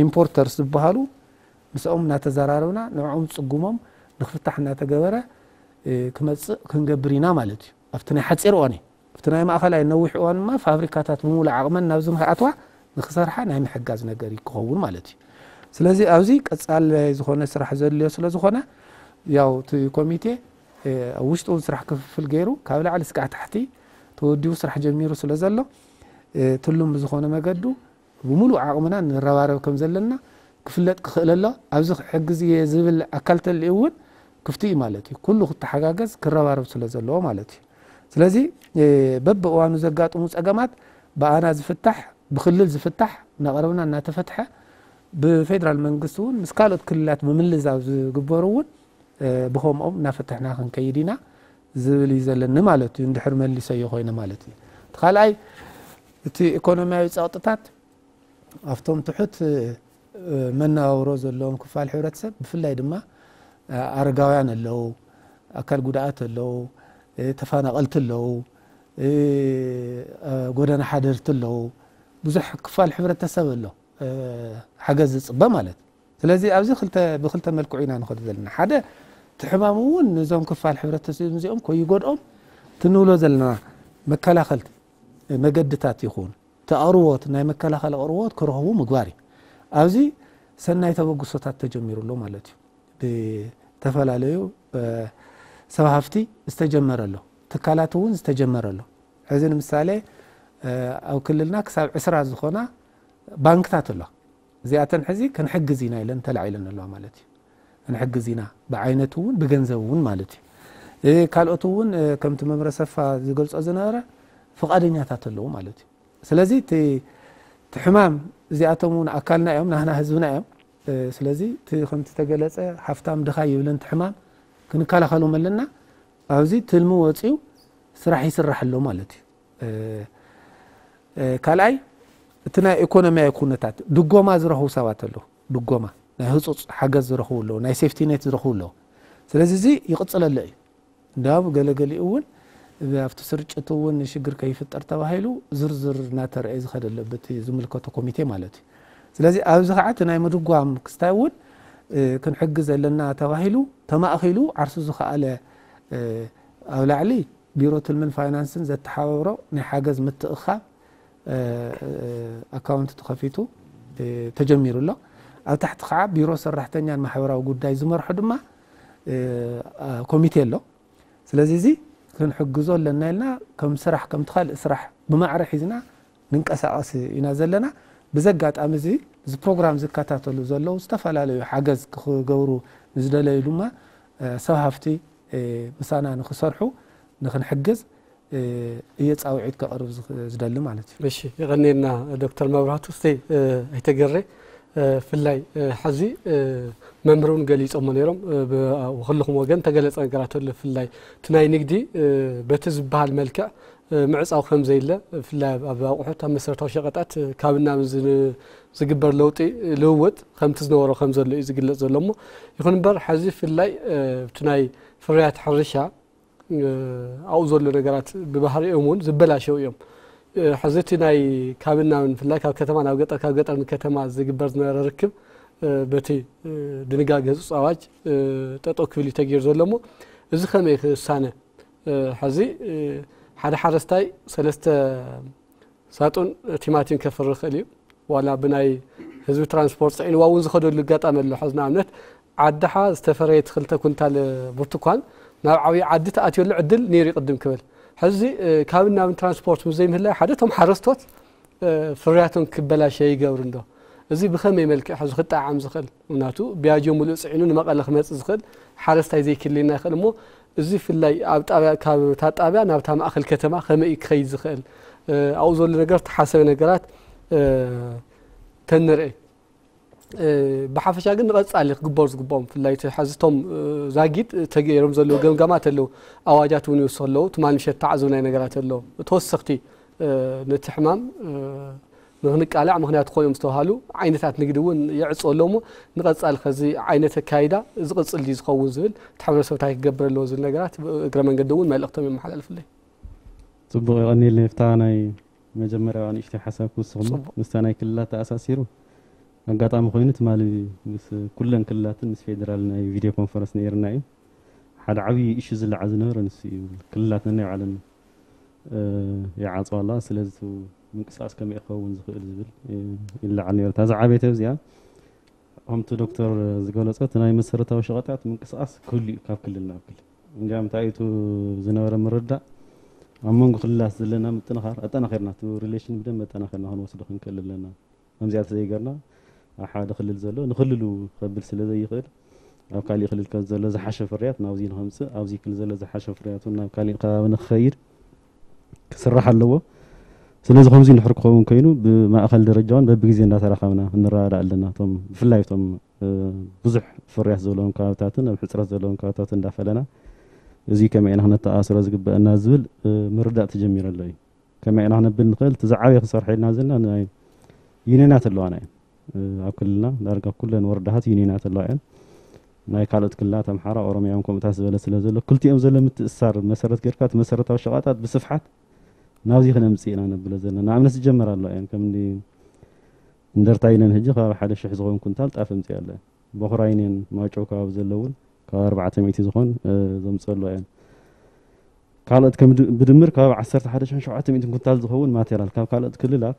ኢምፖርተርስ ዝበሃሉ ምስኦም እናተዘራረብና ንዕኦም ፅጉሞም ንክፍታሕ እናተገበረ ክመፅእ ክንገብር ኢና ማለት እዩ። ኣብቲ ናይ ሓፂር እዋን እዩ። ኣብቲ ናይ ማእኸላይ ነዊሕ እዋን ድማ ፋብሪካታት ብምሉእ ዓቕመን ናብዚ ንክኣትዋ ንክሰርሓ ናይ ምሕጋዝ ነገር እዩ ክኸውን ማለት እዩ። ስለዚ ኣብዚ ቀፃላይ ዝኾነ ስራሕ ዘድልዮ ስለ ዝኾነ ያው እቲ ኮሚቴ ኣብ ውሽጡ እውን ስራሕ ክፍፍል ገይሩ ካብ ላዕሊ ስጋዕ ታሕቲ ተወዲቡ ስራሕ ጀሚሩ ስለ ዘሎ ትሉም ብዝኾነ መገዱ ብምሉእ ዓቕምና ንረባረብ ከም ዘለና ክፍለጥ ክኽእል ኣሎ። ኣብዚ ክሕግዝ እየ ዝብል ኣካል ተልዩ እውን ክፍቲ እዩ ማለት እዩ። ኩሉ ክተሓጋገዝ ክረባረብ ስለ ዘለዎ ማለት እዩ። ስለዚ በብእዋኑ ዘጋጥሙ ፀገማት ብኣና ዝፍታሕ ብክልል ዝፍታሕ እናቐረብና እናተፈትሐ ብፌደራል መንግስቲ እውን ምስ ካልኦት ክልላት ብምልዛብ ዝግበሩ እውን ብኸምኦም እናፈተሕና ክንከይድ ኢና ዝብል እዩ ዘለኒ ማለት እዩ። እንድሕር መሊሰዮ ኮይነ ማለት እዩ። እቲ ካልኣይ እቲ ኢኮኖሚያዊ ፀቕጥታት ኣብቶም ትሑት መነባብሮ ዘለዎም ክፋል ሕብረተሰብ ብፍላይ ድማ ኣረጋውያን ኣለዉ፣ ኣካል ጉድኣት ኣለዉ፣ ተፈናቐልቲ ኣለዉ፣ ጎደና ሓደርቲ ኣለዉ። ብዙሕ ክፋል ሕብረተሰብ ኣሎ ሓገዝ ዝፅበ ማለት። ስለዚ ኣብዚ ክልተ ብክልተ መልክዑ ኢና ንኸዱ ዘለና። ሓደ እቲ ሕማም እውን ነዞም ክፋል ሕብረተሰብ እዚኦም ከይጎድኦም ትንብሎ ዘለና መከላኸልቲ መገድታት ይኹን እቲ ኣቕርቦት ናይ መከላኸሊ ኣቕርቦት ክረኽቡ ምግባር እዩ። ኣብዚ ሰናይ ተበግሶታት ተጀሚሩ ኣሎ ማለት እዩ። ብተፈላለዩ ሰብ ሃፍቲ ዝተጀመረ ኣሎ፣ ትካላት እውን ዝተጀመረ ኣሎ። ሕዚ ንምሳሌ ኣብ ክልልና ክሳብ ዕስራ ዝኾና ባንክታት ኣሎ። እዚኣተን ሕዚ ክንሕግዝ ኢና ኢለን ተላዒለን ኣለዋ ማለት እዩ። ክንሕግዝ ኢና ብዓይነቱ እውን ብገንዘብ እውን ማለት እዩ። ካልኦት እውን ከምቲ መምረ ሰፋ ዝገልጾ ዝነበረ ፍቓደኛታት ኣለዉ ማለት እዩ። ስለዚ እቲ ሕማም እዚኣቶም እውን ኣካልና እዮም፣ ናህና ህዝብና እዮም። ስለዚ እቲ ከምቲ ተገለጸ ሃፍታም ድኻ ይብልን እቲ ሕማም ክንከላኸሎም ኣለና። ኣብዚ ትልሚ ወፂኡ ስራሕ ይስራሕ ኣሎ ማለት እዩ። ካልኣይ እቲ ናይ ኢኮኖሚያዊ ኩነታት ድጎማ ዝረኽቡ ሰባት ኣለዉ። ድጎማ ናይ ህፁፅ ሓገዝ ዝረኽቡ ኣለዉ፣ ናይ ሴፍቲ ኔት ዝረኽቡ ኣለዉ። ስለዚ እዚ ይቕፅለሎ እዩ። እንዳብ ገለገሊኡ እውን ኣብቲ ስርጭት እውን ሽግር ከይፍጠር ተባሂሉ ዝርዝር እናተረእየ ዝኸደለ በቲ ዝምልከቶ ኮሚቴ ማለት እዩ። ስለዚ ኣብዚ ከዓ እቲ ናይ ምድጓም ክስታይ እውን ክንሕግዝ ዘለና ተባሂሉ ተማእኺሉ ዓርሱ ዝኸኣለ ኣብ ላዕሊ ቢሮ ትልምን ፋይናንስን ዘተሓባብሮ ናይ ሓገዝ ምትእኻብ ኣካውንት ተኸፊቱ ተጀሚሩ ኣሎ። ኣብ ታሕቲ ከዓ ቢሮ ሰራሕተኛን ማሕበራዊ ጉዳይ ዝመርሖ ድማ ኮሚቴ ኣሎ። ስለዚ እዚ ክንሕግዞ ኣለና ኢልና ከም ስራሕ ከምቲ ካልእ ስራሕ ብማዕረ ሒዝና ንንቀሳቐስ ኢና ዘለና። ብዚ ኣጋጣሚ እዚ እዚ ፕሮግራም ዝከታተሉ ዘለዉ ዝተፈላለዩ ሓገዝ ክገብሩ ንዝደለዩ ድማ ሰብ ሃፍቲ ምሳና ንክሰርሑ ንክንሕግዝ እየ ፃውዒት ከቕርብ ዝደሊ ማለት እዩ። እሺ፣ የቐንየልና ዶክተር መብራህቱ። እስቲ ኣይተገሬ ብፍላይ ሐዚ መምህር እውን ገሊፆሞ ነይሮም። ብኩልኹም ወገን ተገለፀ ነገራት ኣሎ። ብፍላይ እቲ ናይ ንግዲ በቲ ዝበሃል መልክዕ ምዕፃው ከም ዘየለ ብፍላይ ኣብ ኣቑሑት ኣብ መሰረታዊ ሸቐጣት ካብ ናብ ዝግበር ለውጢ ልውውጥ ከምቲ ዝነበሮ ከም ዘሎ እዩ ዝግለፅ ዘሎ። እሞ ይኹን እምበር ሐዚ ብፍላይ እቲ ናይ ፍርያት ሕርሻ ኣብኡ ዘሎ ነገራት ብባህሪኦም እውን ዝበላሸው እዮም። ሕዚ እቲ ናይ ካብን ናብን ብፍላይ ካብ ከተማ ናብ ገጠር ካብ ገጠር ንከተማ ዝግበር ዝነበረ ርክብ በቲ ድንጋገ ህፁፅ ኣዋጅ ጠጠው ክብል እዩ ተገይሩ ዘሎ። እሞ እዚ ከመይ ክሳነ? ሕዚ ሓደ ሓረስታይ ሰለስተ ሳጡን ቲማቲም ከፍሪ ይኽእል እዩ። ዋላ ብናይ ህዝቢ ትራንስፖርት ፅዒንዋ እውን ዝኸደሉ ኣጋጣሚ ኣሎ። ሕዚ ንኣብነት ዓድሓ ዝተፈረየት ክልተ ኩንታል ብርቱኳን ናብ ዓብዪ ዓዲ ተኣትየሉ ዕድል ነይሩ ቅድም ክብል። ሕዚ ካብን ናብን ትራንስፖርት ምስ ዘይምህላይ ሓደ እቶም ሓረስቶት ፍርያቶም ክበላሸ ይገብር እንዶ? እዚ ብኸመይ መልክዕ ሕዚ ክጠዓም ዝኽእል? ምክንያቱ ቢያጆ ሙሉእ ፅዒኑ ንመቐለ ክመፅእ ዝኽእል ሓረስታይ ዘይክልልና ይኽእል እሞ እዚ ብፍላይ ኣብ ጣብያ ካብ እታ ጣብያ ናብታ ማእኸል ከተማ ከመይ እዩ ክኸይድ ዝኽእል? ኣብኡ ዘሎ ነገር ተሓሰበ ነገራት ተንርኢ። ብሓፈሻ ግን ንቐፃሊ ክግበሩ ዝግብኦም ብፍላይ እቲ ሕዚ እቶም ዛጊድ ተገይሮም ዘለዉ ገምጋማት ኣለዉ። ኣዋጃት እውን ይወስኽ ኣለዉ። ትማል ምሸት ተዓዘብናይ ነገራት ኣሎ። ተወሰኽቲ ነቲ ሕማም ንክንቃላዕ ምክንያት ክኾኑ እዮም ዝተባሃሉ ዓይነታት ንግዲ እውን ይዕፅዎ ኣለዉ እሞ ንቐፃሊ ከዚ ዓይነት ኣካይዳ ዝቕፅል ድዩ ዝኸውን ዝብል እቲ ሕብረተሰብ እንታይ ክገብር ኣለዎ ዝብል ነገራት እግረ መንገዲ እውን መልእኽቶም የመሓላልፍለይ። ፅቡቕ የቐኒልና። ይፍታ ናይ መጀመርያዋ ንእሽተይ ሓሳብ ክውስኽ እሞ ምስታ ናይ ክልላት ተኣሳሲሩ ኣጋጣሚ ኮይኑ ትማሊ ምስ ኩለን ክልላትን ምስ ፌዴራል ናይ ቪድዮ ኮንፈረንስ ነይርና እዩ። ሓደ ዓብዪ ኢሹ ዝለዓ ዝነበረ ንሱ እዩ። ክልላት ነናይ ባዕለን ይዓፅዋ ኣለዋ። ስለዚ ምንቅስቃስ ከመይ ክኸውን ዝኽእል ዝብል ይለዓል ነይሩ። እታ ዝዓበየት ኣብዚኣ ከምቲ ዶክተር ዝገለፆ እቲ ናይ መሰረታዊ ሸቐጣት ምንቅስቃስ ክህሉ እዩ ካብ ክልል ናብ ክልል። እንዲያም እንታይ እዩ ዝነበረ ምርዳእ ኣብ መንጎ ክልላት ዘለና ምጥንኻር ኣጠናኺርና እቲ ሪሌሽን ብደንብ ኣጠናኺርና ክንወስዶ ክንክእል ኣለና። ከምዚኣ ተዘይገርና ኣብ ሓደ ክልል ዘሎ ንክልሉ ከብል ስለ ዘይኽእል ኣብ ካሊእ ክልል ከ ዘሎ ዝሓሸ ፍርያት ናብዚ ንኸምፅእ ኣብዚ ክልል ዘሎ ዝሓሸ ፍርያት እውን ናብ ካሊእ ከባቢ ንክኸይድ ክስራሕ ኣለዎ። ስለዚ ከምዚ እንድሕር ክኸውን ኮይኑ ብማእኸል ደረጃ እውን በብግዜ እንዳተራኸብና ንረዳዳእ ኣለና። እቶም ብፍላይ እቶም ብዙሕ ፍርያት ዘለዎም ከባብታትን ኣብ ሕፅረት ዘለዎም ከባብታትን እንዳፈለና እዚ ከመይ ኢና ክነተኣሳስሮ ዝግበአና ዝብል ምርዳእ ተጀሚሩ ኣሎ እዩ። ከመይ ኢና ክነብል ንኽእል? እቲ ዝዓበየ ክሰርሐልና ዘለና ናይ ዩኒየናት ኣለዋና እየን። ኣብ ክልልና ዳርጋ ኩለን ወረዳታት ዩኒየናት ኣለዋ እየን። ናይ ካልኦት ክልላት ኣምሓራ፣ ኦሮሚያ እውን ከምኡታት ዝበለ ስለ ዘሎ ክልቲኦም ዘሎ ምትእስሳር መሰረት ጌርካ እቲ መሰረታዊ ሸቐጣት ብስፍሓት ናብዚ ክነምፅእ ኢና ነብሎ ዘለና። ንኣብነት ዝጀመራ ኣለዋ እየን። ከም እንዲ እንደርታ ዩኒየን ሕጂ ከባቢ ሓደ ሽሕ ዝኸውን ኩንታል ጣፍ ኣምፅእ ኣሎ። ቦኽራ ዩኒየን ማይጨው ከባቢ ዘለውን ካብ ኣርባዕተ ሚእቲ ዝኾን ዘምፅእ ኣለዋ እየን። ካልኦት ከም ብድምር ከባቢ ዓሰርተ ሓደ ሽሕን ሸውዓተ ሚእትን ኩንታል ዝኸውን ማቴሪያል ካብ ካልኦት ክልላት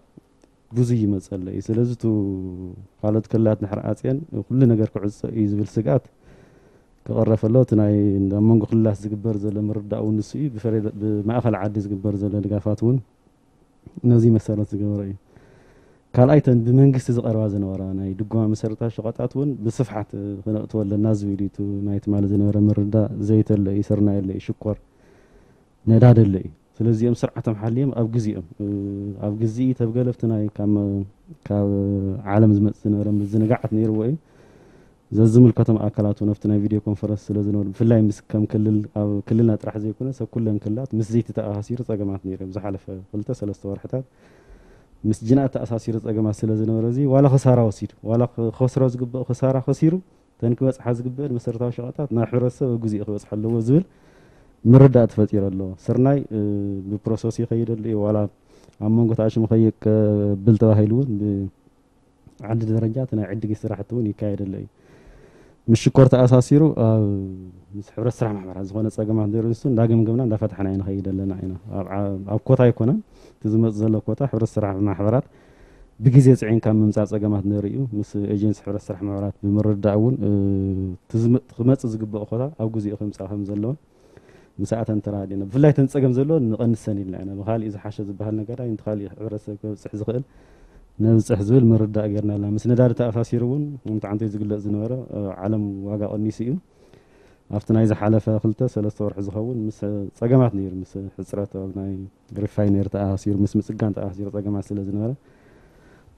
ብዙይ ይመፀለ እዩ። ስለዚ እቲ ካልኦት ክልላት ድሕሪ ኣፅየን ኩሉ ነገር ክዕፀ እዩ ዝብል ስግኣት ክቐረፍ ኣሎ። እቲ ናይ ኣብ መንጎ ክልላት ዝግበር ዘሎ ምርዳእ እውን ንሱ እዩ። ብማእኸል ዓዲ ዝግበር ዘሎ ድጋፋት እውን ነዚ መሰረት ዝገበረ እዩ። ካልኣይ ተን ብመንግስቲ ዝቐርባ ዝነበራ ናይ ድጎማ መሰረታዊ ሸቐጣት እውን ብስፍሓት ክነእትወ ኣለና ዝብል እዩ። እቲ ናይ ትማሊ ዝነበረ ምርዳእ ዘይተለ እዩ፣ ስርናይ ኣለ እዩ፣ ሽኮር ነዳዲ ኣለ እዩ። ስለዚኦም ስርዓቶም ሓልዮም ኣብ ግዜኦም ኣብ ግዜ ተብገለፍቲ ናይ ካብ ዓለም ዝመፅእ ዝነበረ ምዝንጋዓት ነይርዎ እዩ። ዘዝምልከቶም ኣካላት እውን ኣብቲ ናይ ቪድዮ ኮንፈረንስ ስለ ዝነበሩ ብፍላይ ምስ ከም ክልል ኣብ ክልልና ጥራሕ ዘይኮነስ ኣብ ኩለን ክልላት ምስ ዘይቲ ተኣሳሲሩ ፀገማት ነይሮም ዝሓለፈ ክልተ ሰለስተ ወርሕታት ምስ ጅንኣት ተኣሳሲሩ ፀገማት ስለ ዝነበረ እዚ ዋላ ክሳራ ወሲዱ ዋላ ክኸስሮ ዝግብእ ክሳራ ከሲሩ ተን ክበፅሓ ዝግብአን መሰረታዊ ሸቐጣት ናብ ሕብረተሰብ ኣብ ግዜኡ ክበፅሓ ኣለዎ ዝብል ምርዳእ ተፈጢሩ ኣሎ። ስርናይ ብፕሮሰስ ይኸይደሉ እዩ። ዋላ ኣብ መንጎ ተኣሽሙ ከይብል ተባሂሉ እውን ብዓዲ ደረጃ እቲ ናይ ዕድጊት ስራሕቲ እውን ይካየደሉ እዩ። ምስ ሽኮር ተኣሳሲሩ ኣብ ምስ ሕብረት ስራሕ ማሕበራት ዝኾነ ፀገማት ንርኢ ንሱ እንዳገምገምና እንዳፈታሕና ንኸይድ ኣለና ኢና። ኣብ ኮታ ኣይኮነን እቲ ዝመፅ ዘሎ ኮታ። ሕብረት ስራሕ ማሕበራት ብግዜ ፅዒንካ ምምፃእ ፀገማት ንርኢ እዩ። ምስ ኤጀንሲ ሕብረት ስራሕ ማሕበራት ብምርዳእ እውን ክመፅእ ዝግበኦ ኮታ ኣብ ግዜኡ ክምፃእ ከም ዘለዎን ምስኣተን ተራዲእና። ብፍላይ ተን ፀገም ዘለዎ ንቐንሰን ኢልና ኢና። ብካሊእ ዝሓሸ ዝበሃል ነገር ኣይ፣ እንተ ካሊእ ሕብረተሰብ ከብፅሕ ዝኽእል ነብፅሕ ዝብል ምርዳእ ጌርና ኣለና። ምስ ነዳዲ ተኣሳሲሩ እውን ከምቲ ዓንተይ ዝግለፅ ዝነበረ ዓለም ዋጋ ቀኒሱ እዩ። ኣብቲ ናይ ዝሓለፈ ክልተ ሰለስተ ወርሒ ዝኸውን ምስ ፀገማት ነይሩ፣ ምስ ሕፅረት ኣብ ናይ ሪፋይነሪ ተኣሳሲሩ፣ ምስ ምፅጋን ተኣሳሲሩ ፀገማት ስለ ዝነበረ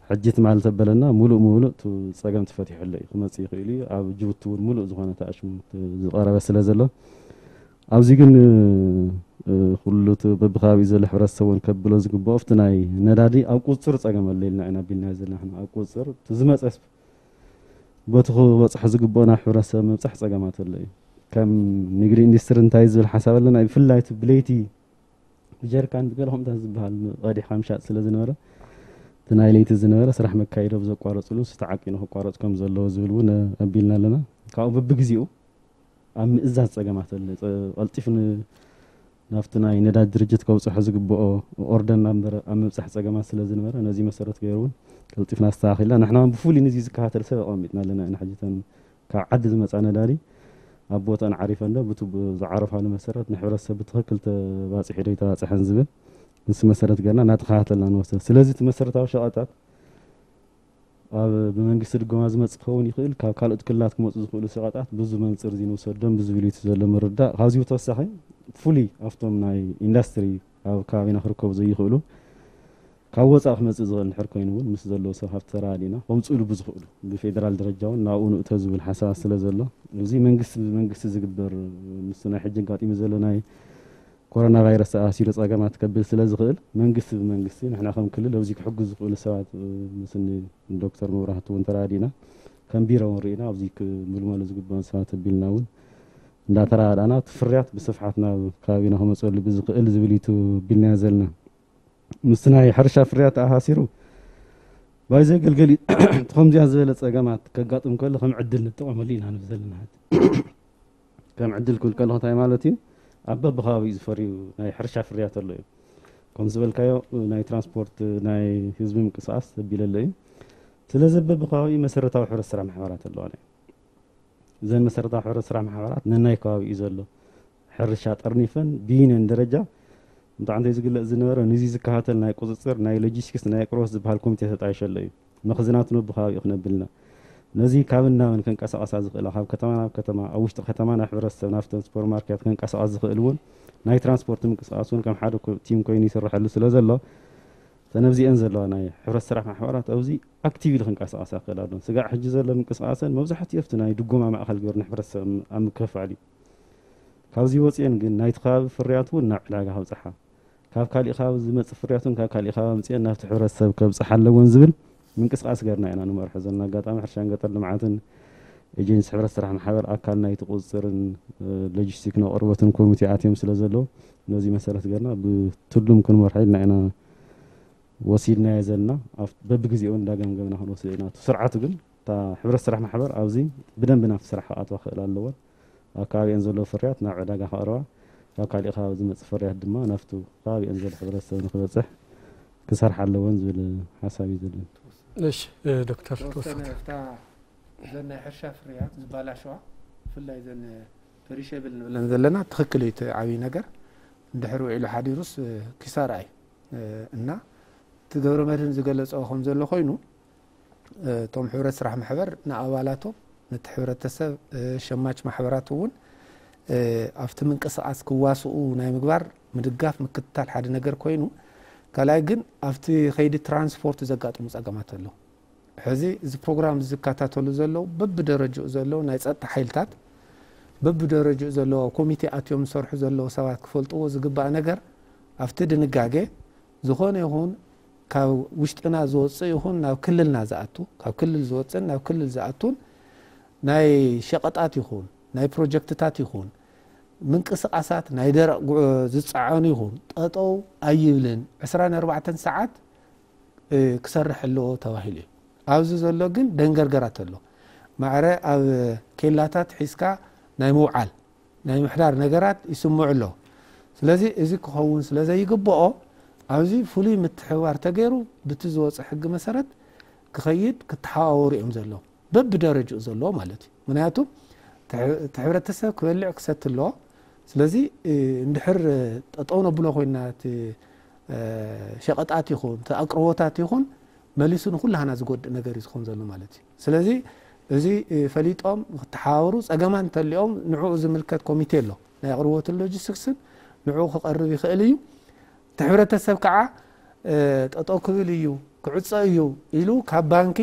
ሕጂ ትማሊ ተበለና ሙሉእ ሙሉእ እቲ ፀገም ተፈቲሑ ኣሎ እዩ። ክመፅእ ይኽእል እዩ። ኣብ ጅቡቲ እውን ሙሉእ ዝኾነ ተኣሽሙ ዝቐረበ ስለ ዘሎ ኣብዚ ግን ኩሉ እቲ በብከባቢኡ ዘሎ ሕብረተሰብ እውን ከብሎ ዝግብኦ ኣብቲ ናይ ነዳዲ ኣብ ቁፅር ፀገም ኣሎ ኢልና ኢና ኣቢልና ዘለና። ንሕና ኣብ ቁፅር እቲ ዝመፀስ በቲ ክበፅሖ ዝግብኦ ናብ ሕብረተሰብ ምብፃሕ ፀገማት ኣሎ እዩ። ከም ንግዲ ኢንዱስትሪ እንታይ ዝብል ሓሳብ ኣለና? ብፍላይ እቲ ብለይቲ ብጀርካን ብገለ ከምታት ዝበሃል ቀዲሕካ ምሻጥ ስለ ዝነበረ እቲ ናይ ለይቲ ዝነበረ ስራሕ መካይዶ ብዘቋረፅሉ ንሱ ተዓቂኑ ክቋረፅ ከም ዘለዎ ዝብል እውን ኣቢልና ኣለና። ካብኡ በብግዜኡ ኣብ ምእዛዝ ፀገማት ኣሎ። ቀልጢፍ ናብቲ ናይ ነዳጅ ድርጅት ከብፅሖ ዝግብኦ ኦርደር ናምበር ኣብ ምብፃሕ ፀገማት ስለ ዝነበረ ነዚ መሰረት ገይሩ እውን ቀልጢፍና ኣስተኻኺልና። ንሕና እውን ብፍሉይ ነዚ ዝከታተል ሰብ ኣቐሚጥና ኣለና ኢና። ሕጂ እተን ካብ ዓዲ ዝመፃ ነዳዲ ኣብ ቦታን ዓሪፈን ዶ ብቲ ዝዓረፋሉ መሰረት ንሕብረተሰብ ብትኽክል ተባፂሑ ዶ ኣይተባፅሐን ዝብል ንሱ መሰረት ገርና እናተኸታተልና ንወስደ። ስለዚ እቲ መሰረታዊ ሸቐጣት ኣብ ብመንግስቲ ድጎማ ዝመፅእ ክኸውን ይኽእል፣ ካብ ካልኦት ክልላት ክመፁ ዝኽእሉ ሸቐጣት ብዙ መንፅር እዚ ንውሰዶም ብዙ ብልዩት ዘሎ ምርዳእ። ካብዚ ብተወሳኺ ፍሉይ ኣብቶም ናይ ኢንዳስትሪ ኣብ ከባቢና ክርከቡ ዘይኽእሉ ካብ ወፃኢ ክመፅእ ዝኽእል እንድሕር ኮይኑ እውን ምስ ዘለዎ ሰብ ሃፍቲ ተራዲእና ከምፅእሉ ብዝኽእሉ ብፌደራል ደረጃ እውን ናብኡ ንእቶ ዝብል ሓሳባት ስለ ዘሎ እዚ መንግስቲ ብመንግስቲ ዝግበር ምስ ናይ ሕጂ ኣጋጢሙ ዘሎ ናይ ኮሮና ቫይረስ ተኣሲሩ ፀገማት ከብል ስለ ዝኽእል መንግስቲ ብመንግስቲ ንሕና ከም ክልል ኣብዚ ክሕግዙ ዝኽእሉ ሰባት ምስኒ ዶክተር መብራህቱ እውን ተራዲእና ከም ቢሮ እውን ርኢና ኣብዚ ክምልመሉ ዝግበኦም ሰባት ኣቢልና እውን እንዳተራዳእና እቲ ፍርያት ብስፍሓት ናብ ከባቢና ክመፀሉ ብዝኽእል ዝብል እዩ ቢልናዮ ዘለና። ምስቲ ናይ ሕርሻ ፍርያት ተኣሳሲሩ ባይ ዘገልገል እዩ። እቲ ከምዚኣ ዝበለ ፀገማት ከጋጥም ከሎ ከም ዕድል ንጠቐመሉ ኢና ንብል ዘለና። ከም ዕድል ክብል ከለኹ እንታይ ማለት እዩ? ኣብ በብከባቢኡ ዝፈርዩ ናይ ሕርሻ ፍርያት ኣሎ እዩ። ከም ዝበልካዮ ናይ ትራንስፖርት ናይ ህዝቢ ምንቅስቃስ ተቢለ ኣሎ እዩ። ስለዚ በብከባቢኡ መሰረታዊ ሕብረት ስራሕ ማሕበራት ኣለዋና እዩ። እዘን መሰረታዊ ሕብረት ስራሕ ማሕበራት ነናይ ከባቢኡ ዘሎ ሕርሻ ጠርኒፈን ብዩኒየን ደረጃ እንተዓንተ ዝግለፅ ዝነበረ ንዚ ዝከታተል ናይ ቁፅፅር ናይ ሎጂስቲክስ ናይ ኣቅርቦት ዝበሃል ኮሚቴ ተጣይሸ ኣሎ እዩ። መኽዝናት ነብኸባቢኡ ክነብልና ነዚ ካብ እናበን ከንቀሳቐሳ ዝኽእላ ካብ ከተማ ናብ ከተማ ኣብ ውሽጢ ከተማ ናብ ሕብረተሰብ ናብተን ሱፐርማርኬት ከንቀሳቐስ ዝኽእል እውን ናይ ትራንስፖርት ምንቅስቃስ እውን ከም ሓደ ኮ- ቲም ኮይኑ ይስርሐሉ ስለ ዘሎ ተነብዚአን ዘለዋ ናይ ሕብረት ስራሕ ማሕበራት ኣብዚ ኣክቲቭሊ ክንቀሳቐሳ ክእል ኣለዎ። ስጋዕ ሕጂ ዘሎ ምንቅስቃሰን መብዛሕትኡ ኣብቲ ናይ ድጎማ ማእኸል ገይሩ ንሕብረተሰብ ኣብ ምክፍፋል እዩ። ካብዚ ወፂአን ግን ናይቲ ከባቢ ፍርያት እውን ናብ ዕዳጋ ከብፅሓ ካብ ካሊእ ከባቢ ዝመፅእ ፍርያት እውን ካብ ካሊእ ከባቢ ኣምፅአን ናብቲ ሕብረተሰብ ከብፅሓ ኣለዎን ዝብል ምንቅስቃስ ገርና ኢና ንመርሖ ዘለና። ኣጋጣሚ ሕርሻን ገጠር ልምዓትን ኤጀንሲ ሕብረት ስራሕ ማሕበር ኣካል ናይቲ ቁፅፅርን ሎጂስቲክ ኣቕርቦትን ኮሚቴ ኣትዮም ስለ ዘለዉ ነዚ መሰረት ገርና ብትሉም ክንመርሖ ኢልና ኢና ወሲድናዮ ዘለና። በብግዜኡ እንዳገምገምና ክንወስድ ኢና። እቲ ስርዓቱ ግን እታ ሕብረት ስራሕ ማሕበር ኣብዚ ብደንቢ ናብቲ ስራሕ ክኣትዋ ክእል ኣለዎን ኣብ ከባቢአን ዘለዉ ፍርያት ናብ ዕዳጋ ከቕርባ ካብ ካሊእ ከባቢ ዝመፅእ ፍርያት ድማ ናብቲ ከባቢአን ዘሎ ሕብረተሰብ ንክበፅሕ ክሰርሓ ኣለዎን ዝብል ሓሳብ እዩ ዘለኒ። እሺ ዶክተር ተወሰነ ተወሰነ እታ እዘን ናይ ሕርሻ ፍርያት ዝበላሸዋ ብፍላይ እዘን ፐሪሸብል ንብለን ዘለና ትኽክል እዩ። እቲ ዓብዪ ነገር እንድሕር ውዒሉ ሓዲሩስ ኪሳራ እዩ እና እቲ ገብረ መድህን ዝገለፀ ከም ዘሎ ኮይኑ እቶም ሕብረት ስራሕ ማሕበር ንኣባላቶም ነቲ ሕብረተሰብ ሸማች ማሕበራት እውን ኣብቲ ምንቅስቃስ ክዋስኡ ናይ ምግባር ምድጋፍ ምክትታል ሓደ ነገር ኮይኑ ካልኣይ ግን ኣብቲ ከይዲ ትራንስፖርት ዘጋጥሙ ፀገማት ኣለዉ። ሕዚ እዚ ፕሮግራም ዝከታተሉ ዘለዉ በብደረጅኡ ዘለዉ ናይ ፀጥታ ሓይልታት በብደረጅኡ ዘለዉ ኣብ ኮሚቴ ኣትዮም ዝሰርሑ ዘለዉ ሰባት ክፈልጥዎ ዝግባእ ነገር ኣብቲ ድንጋጌ ዝኾነ ይኹን ካብ ውሽጥና ዝወፅእ ይኹን ናብ ክልልና ዝኣቱ ካብ ክልል ዝወፅእን ናብ ክልል ዝኣቱን ናይ ሸቐጣት ይኹን ናይ ፕሮጀክትታት ይኹን ምንቅስቃሳት ናይ ደረቕ ጉ- ዝጸዓኑ ይኹን ጠጠው ኣይብልን። ዕስራን ኣርባዕተን ሰዓት እ፣ ክሰርሕ ኣለዎ ተባሂሉ እዩ። ኣብዚ ዘሎ ግን ደንገርገራት ኣሎ። ማዕረ ኣብ ኬላታት ሒዝካ ናይ ምውዓል ናይ ምሕዳር ነገራት ይስምዑ ኣለዉ። ስለዚ እዚ ክኸውን ስለ ዘይግብኦ ኣብዚ ፍሉይ ምትሕብባር ተገይሩ ብቲ ዝወፀ ሕጊ መሰረት ክኸይድ ክተሓዋወሩ እዮም ዘለዉ። በብደረጅኡ ዘለዎ ማለት እዩ። ምክንያቱ እቲ ሕብረተሰብ ክበልዕ ክሰቲ ኣለዎ። ስለዚ እንድሕር ጠጠው ነብሎ ኮይና እቲ ሸቀጣት ይኹን እቲ ኣቅርቦታት ይኹን መሊሱ ንኩላህና ዝጎድእ ነገር እዩ ዝኸውን ዘሎ ማለት እዩ። ስለዚ እዚ ፈሊጦም ክተሓባበሩ፣ ፀገማት እንተሊኦም ንዕኡ ዝምልከት ኮሚቴ ኣሎ ናይ ኣቅርቦትን ሎጂስቲክስን ንዕኡ ክቀርብ ይኽእል እዩ። እቲ ሕብረተሰብ ከዓ ጠጠው ክብል እዩ ክዕፀ እዩ ኢሉ ካብ ባንኪ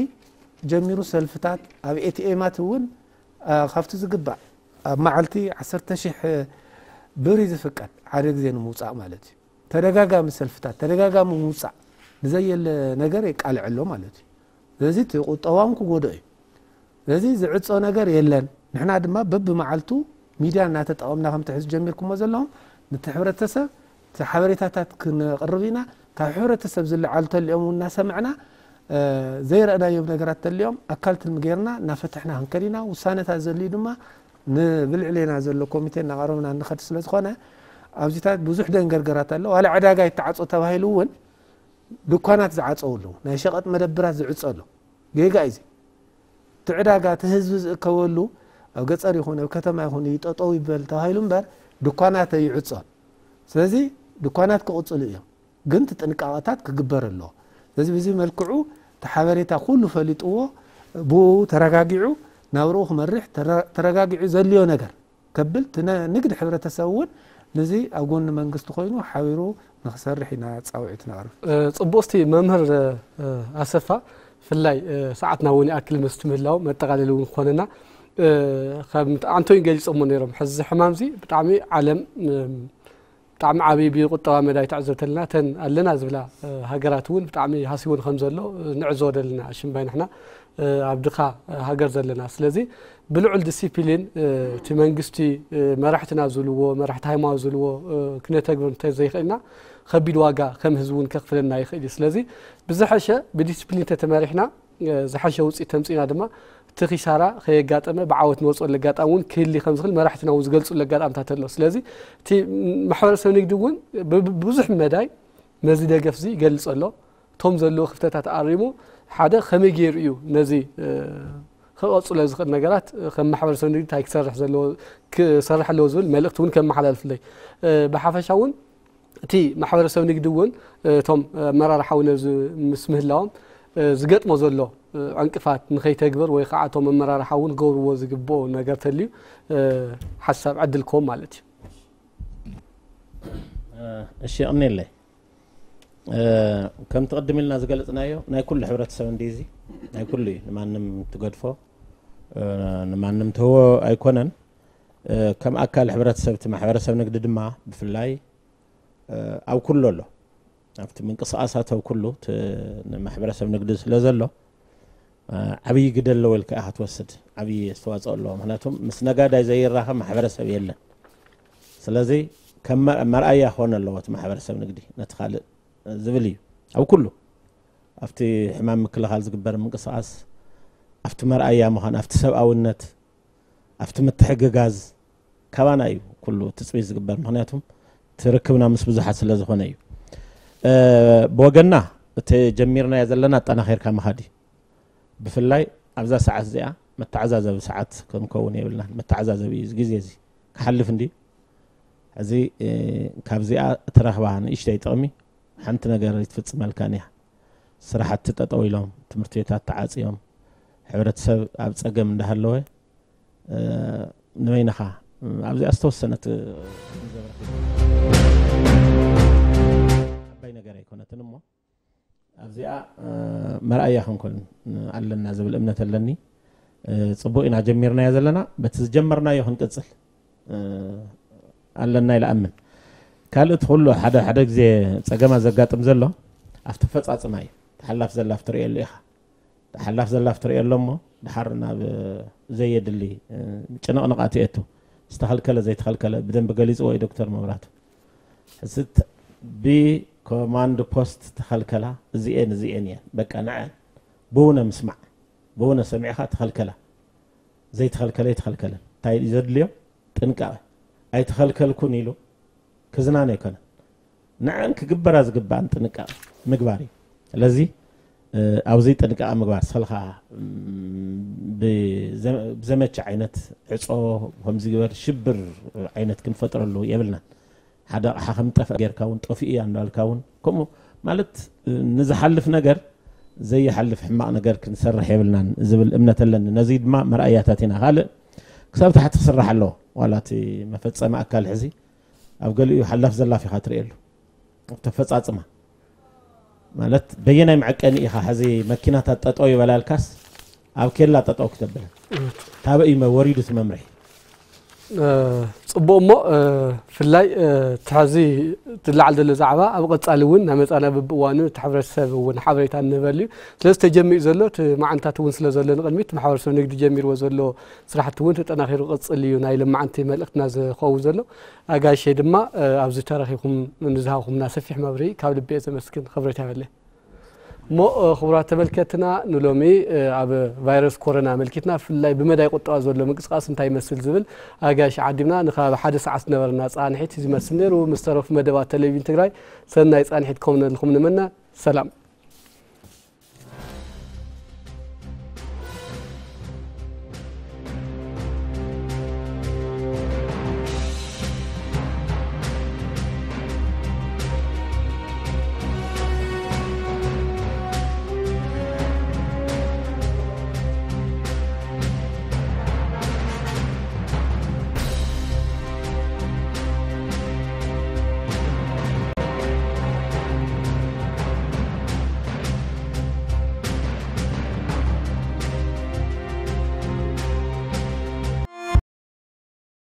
ጀሚሩ ሰልፍታት ኣብ ኤቲኤማት እውን ካብቲ ዝግባእ ኣብ መዓልቲ ዓሰርተ ሺሕ ብር እዩ ዝፍቀድ ሓደ ግዜ ንምውፃእ ማለት እዩ። ተደጋጋሚ ሰልፍታት ተደጋጋሚ ምውፃእ ንዘየለ ነገር የቃልዕ ኣሎ ማለት እዩ። ስለዚ እቲ ቁጠባውን ክጎድኦ እዩ። ስለዚ ዝዕፆ ነገር የለን። ንሕና ድማ በብመዓልቱ ሚድያ እናተጠቐምና ከምቲ ሕዚ ጀሚርኩሞ ዘለኹም ነቲ ሕብረተሰብ እቲ ሓበሬታታት ክነቕርብ ኢና። ካብ ሕብረተሰብ ዝለዓሉ ተሊኦም እውን እናሰምዕና ዘይረእናዮም ነገራት ተሊኦም ኣካል ትልሚ ገይርና እናፈትሕና ክንከድ ኢና። ውሳነታት ዘድልዩ ድማ ንብልዕሌና ዘሎ ኮሚቴ እናቐረብና እንኸድ ስለ ዝኾነ ኣብዚታት ብዙሕ ደንገርገራት ኣሎ። ዋላ ዕዳጋ ይተዓፆ ተባሂሉ እውን ድኳናት ዝዓፀው ኣለዉ። ናይ ሸቐጥ መደብራት ዝዕፆ ኣሎ። ጌጋ እዩ። እቲ ዕዳጋ እቲ ህዝቢ ዝእከበሉ ኣብ ገፀር ይኹን ኣብ ከተማ ይኹን እዩ ጠጠው ይበል ተባሂሉ እምበር ድኳናት ኣይዕፆን። ስለዚ ድኳናት ክቕፅሉ እዮም፣ ግን እቲ ጥንቃቐታት ክግበር ኣለዎ። ስለዚ ብዚ መልክዑ እቲ ሓበሬታ ኩሉ ፈሊጥዎ ብኡ ተረጋጊዑ ናብርኡ ክመርሕ ተረ- ተረጋጊዑ ዘድልዮ ነገር ከብል እቲ ነ- ንግድ ሕብረተሰብ እውን ነዚ ኣብ ጎኒ መንግስቲ ኮይኑ ሓቢሩ ንክሰርሕ ኢና ፃውዒት ነቕርብ። እ፣ ጽቡቕ። እስቲ መምህር፣ እ፣ ኣሰፋ፣ ብፍላይ፣ እ፣ ሰዓትና እውን ይኣክል መስቲ ምህላው መጠቓለሊ እውን ክኾነና፣ እ፣ ከም ኣንቶኒ ገሊጾሞ ነይሮም። ሕዚ ሕማም እዚ ብጣዕሚ ዓለም፣ እ፣ ብጣዕሚ ዓብዪ ብቁጠባ መዳይ ትዕዘብ ተለና እተን ኣለና ዝብላ፣ እ፣ ሃገራት እውን ብጣዕሚ ሃሲውን ከም ዘሎ፣ እ፣ ንዕዘቦ ዘለና ሽምባይ ንሕና፣ እ፣ ኣብ ድኻ፣ እ፣ ሃገር ዘለና። ስለዚ ብልዑል ዲሲፕሊን፣ እ፣ እቲ መንግስቲ፣ እ፣ መራሕትና ዝብልዎ፣ መራሕቲ ሃይማኖት ዝብልዎ፣ እ፣ ክነተግብር እንተዘይኽእልና ከቢድ ዋጋ ከም ህዝቢ እውን ከኽፍለና ይኽእል እዩ። ስለዚ ብዝሐሸ ብዲሲፕሊን ተተመሪሕና፣ እ፣ ዝሐሸ ውፅኢት ተምፂእና ድማ እቲ ኪሳራ ከየጋጠመ ብዓወት ንወፅኦሉ ኣጋጣሚ እውን ክህሊ ከም ዝኽእል መራሕትና እውን ዝገልፁሉ ኣጋጣምታት ኣሎ። ስለዚ እቲ ማሕበረሰብ ንግዲ እውን ብ- ብ- ብዙሕ መዳይ ነዚ ደገፍ እዚ ይገልፅ ኣሎ። እቶም ዘለዉ ክፍተታት ኣሪሙ ሓደ ከመይ ገይሩ እዩ ነዚ፣ እ፣ ክቐፅሎ ዝኽእል ነገራት፣ እ፣ ከም ማሕበረሰብ ንግዲ እንታይ ክሰርሕ ዘለዎ ክሰርሕ ኣለዎ ዝብል መልእክቲ እውን ከመሓላልፍለይ፣ እ፣ ብሓፈሻ እውን እቲ ማሕበረሰብ ንግዲ እውን፣ እ፣ እቶም ኣመራርሓ እውን ኣብዚ ምስ ምህላዎም፣ እ፣ ዝገጥሞ ዘሎ፣ እ፣ ዕንቅፋት ንኸይተግብር ወይ ከዓ እቶም ኣመራርሓ እውን ክገብርዎ ዝግብኦ ነገር ተልዩ፣ እ፣ ሓሳብ ዕድል ክህቦም ማለት እዩ። እ፣ እሺ፣ የቐንየለይ። እ፣ ከምቲ ቅድም ኢልና ዝገለጽናዮ ናይ ኩሉ ሕብረተሰብ እንዲ እዚ ናይ ኩሉ እዩ። ንማንም ትገድፎ፣ እ፣ ንማንም ትህቦ ኣይኮነን። እ፣ ከም ኣካል ሕብረተሰብ እቲ ማሕበረሰብ ንግዲ ድማ ብፍላይ፣ እ፣ ኣብ ኩሉ ኣሎ። ኣብቲ ምንቅስቃሳት ኣብ ኩሉ እቲ ንማሕበረሰብ ንግዲ ስለ ዘሎ፣ እ፣ ዓብዪ ግደ ኣለዎ ኢልካ ኢኻ ትወስድ። ዓብዪ ኣስተዋፅኦ ኣለዎ። ምክንያቱም ምስ ነጋዳይ ዘይራኸብ ማሕበረሰብ የለን። ስለዚ ከም መር- መርኣያ ክኾን ኣለዎ እቲ ማሕበረሰብ ንግዲ ነቲ ካልእ ዝብል እዩ። ኣብ ኩሉ ኣብቲ ሕማም ምክልኻል ዝግበር ምንቅስቃስ ኣብቲ መርኣያ ምዃን፣ ኣብቲ ሰብኣውነት፣ ኣብቲ ምትሕግጋዝ ካባና እዩ ኩሉ ትፅቢት ዝግበር። ምክንያቱም እቲ ርክብና ምስ ብዙሓት ስለ ዝኾነ እዩ። እ፣ ብወገንና እቲ ጀሚርናዮ ዘለና ኣጠናኺርካ ምኻድ እዩ። ብፍላይ ኣብዛ ሰዓት እዚኣ መተዓዛዘቢ ሰዓት ክንከውን የብልናን። መተዓዛዘቢ እዩ እዚ ግዜ እዚ ክሓልፍ እንድዩ። ሕዚ፣ እ፣ ካብዚኣ እትረኽባ ንእሽተይ ጥቕሚ ሓንቲ ነገር ኣይትፍፅመልካን እያ። ስራሕቲ ጠጠው ኢሎም፣ ትምህርቲ ቤታት ተዓፅዮም፣ ሕብረተሰብ ኣብ ፀገም እንዳሃለወ፣ እ፣ ንበይንኻ ኣብዚኣ ዝተወሰነት ዓባይ ነገር ኣይኮነትን እሞ ኣብዚኣ፣ እ፣ መርኣያ ክንኮን ኣለና ዝብል እምነት ኣለኒ። እ፣ ፅቡቅ ኢና ጀሚርናዮ ዘለና፣ በቲ ዝጀመርናዮ ክንቅፅል፣ እ፣ ኣለና ኢለ ኣምን። ካልእ እቲ ኩሉ ሓደ ሓደ ግዜ ፀገማት ዘጋጥም ዘሎ ኣብቲ ኣፈፃፅማ እዩ። ተሓላፍ ዘላፍ ትርእየሉ ኢኻ። ተሓላፍ ዘላፍ ትርእየሉ እሞ ድሓር ናብ ዘየድሊ፣ እ፣ ጭንቕንቓት የእቱ። ዝተኸልከለ ዘይተኸልከለ ብደንብ ገሊፅዎ እዩ ዶክተር መብራቱ። ሕዚ ት- ብኮማንድ ፖስት ተኸልከላ እዚኤን እዚኤን እየን በቃ ንዐ ብውነ ምስማዕ ብውነ ሰሚዕኻ ተኸልከላ ዘይተኸልከለ ኣይተኸልከለን እንታይ እዩ ዘድልዮ ጥንቃቐ ኣይተኸልከልኩን ኢሉ ክዝናነ ኣይኮነን ንዐን ክግበራ ዝግባኣን ጥንቃቐ ምግባር እዩ ስለዚ ኣብዚ ጥንቃቐ ምግባር ሰልኻ ብዘመቸ ዓይነት ዕፆ ከምዚ ግበር ሽብር ዓይነት ክንፈጥረሉ የብልናን ሓደ ኣቕሓ ከም ጠፍአ ጌርካ እውን ጠፊኡ እያ እንዳልካ እውን ከምኡ ማለት ንዝሓልፍ ነገር ዘይሓልፍ ሕማቕ ነገር ክንሰርሕ የብልናን ዝብል እምነት ኣለኒ ነዚ ድማ መርኣያታት ኢና ካልእ ክሳብ ታሕቲ ክስራሕ ኣለዎ ዋላ እቲ መፈፀሚ ኣካል ሕዚ ኣብ ገሊኡ ሓላፍ ዘላፍ ኢኻ ትርእየሉ ተፈፃፅማ ማለት በየናይ መዐቀኒ ኢኻ ሕዚ መኪናታት ጠጠው ይበላልካስ ኣብ ኬላ ጠጠው ክተብል ታበይ መ- ወሪዱ እቲ መምርሒ እ፣ ፅቡቅ እሞ እ፣ ብፍላይ እ፣ እቲ ሕዚ ዝለዓል ዘሎ ዛዕባ ኣብ ቀፃሊ እውን እናመፃና ብብእዋኑ እቲ ሕብረተሰብ እውን ሓበሬታ እንህበሉ እዩ ስለዚ ተጀሚሩ ዘሎ እቲ መዓንታት እውን ስለ ዘሎ ንቅድሚት ማሕበረሰብ ንግዲ ጀሚርዎ ዘሎ ስራሕቲ እውን ተጠናኺሩ ክቅፅል እዩ ናይ ልምዓንቲ መልእክትና ዝኸውን ዘሎ ኣጋይሸይ ድማ እ፣ ኣብዚ ተረኺብኩም ንዝሃብኩምና ሰፊሕ መብርሂ ካብ ልቢ እየ ዘመስግን ክብረት ያበለ እሞ ክቡራት ተመልከትና ንሎሚ ኣብ ቫይረስ ኮሮና ኣመልኪትና ብፍላይ ብመዳይ ቁጠባ ዘሎ ምንቅስቃስ እንታይ ይመስል ዝብል ኣጋይሽ ዓዲምና ንከባቢ ሓደ ሰዓት ዝነበረና ፃንሒት እዚ ይመስል ነይሩ ምስ ተረፉ መደባት ቴሌቪዥን ትግራይ ሰናይ ፃንሒት ከምነልኩም ንምነ ሰላም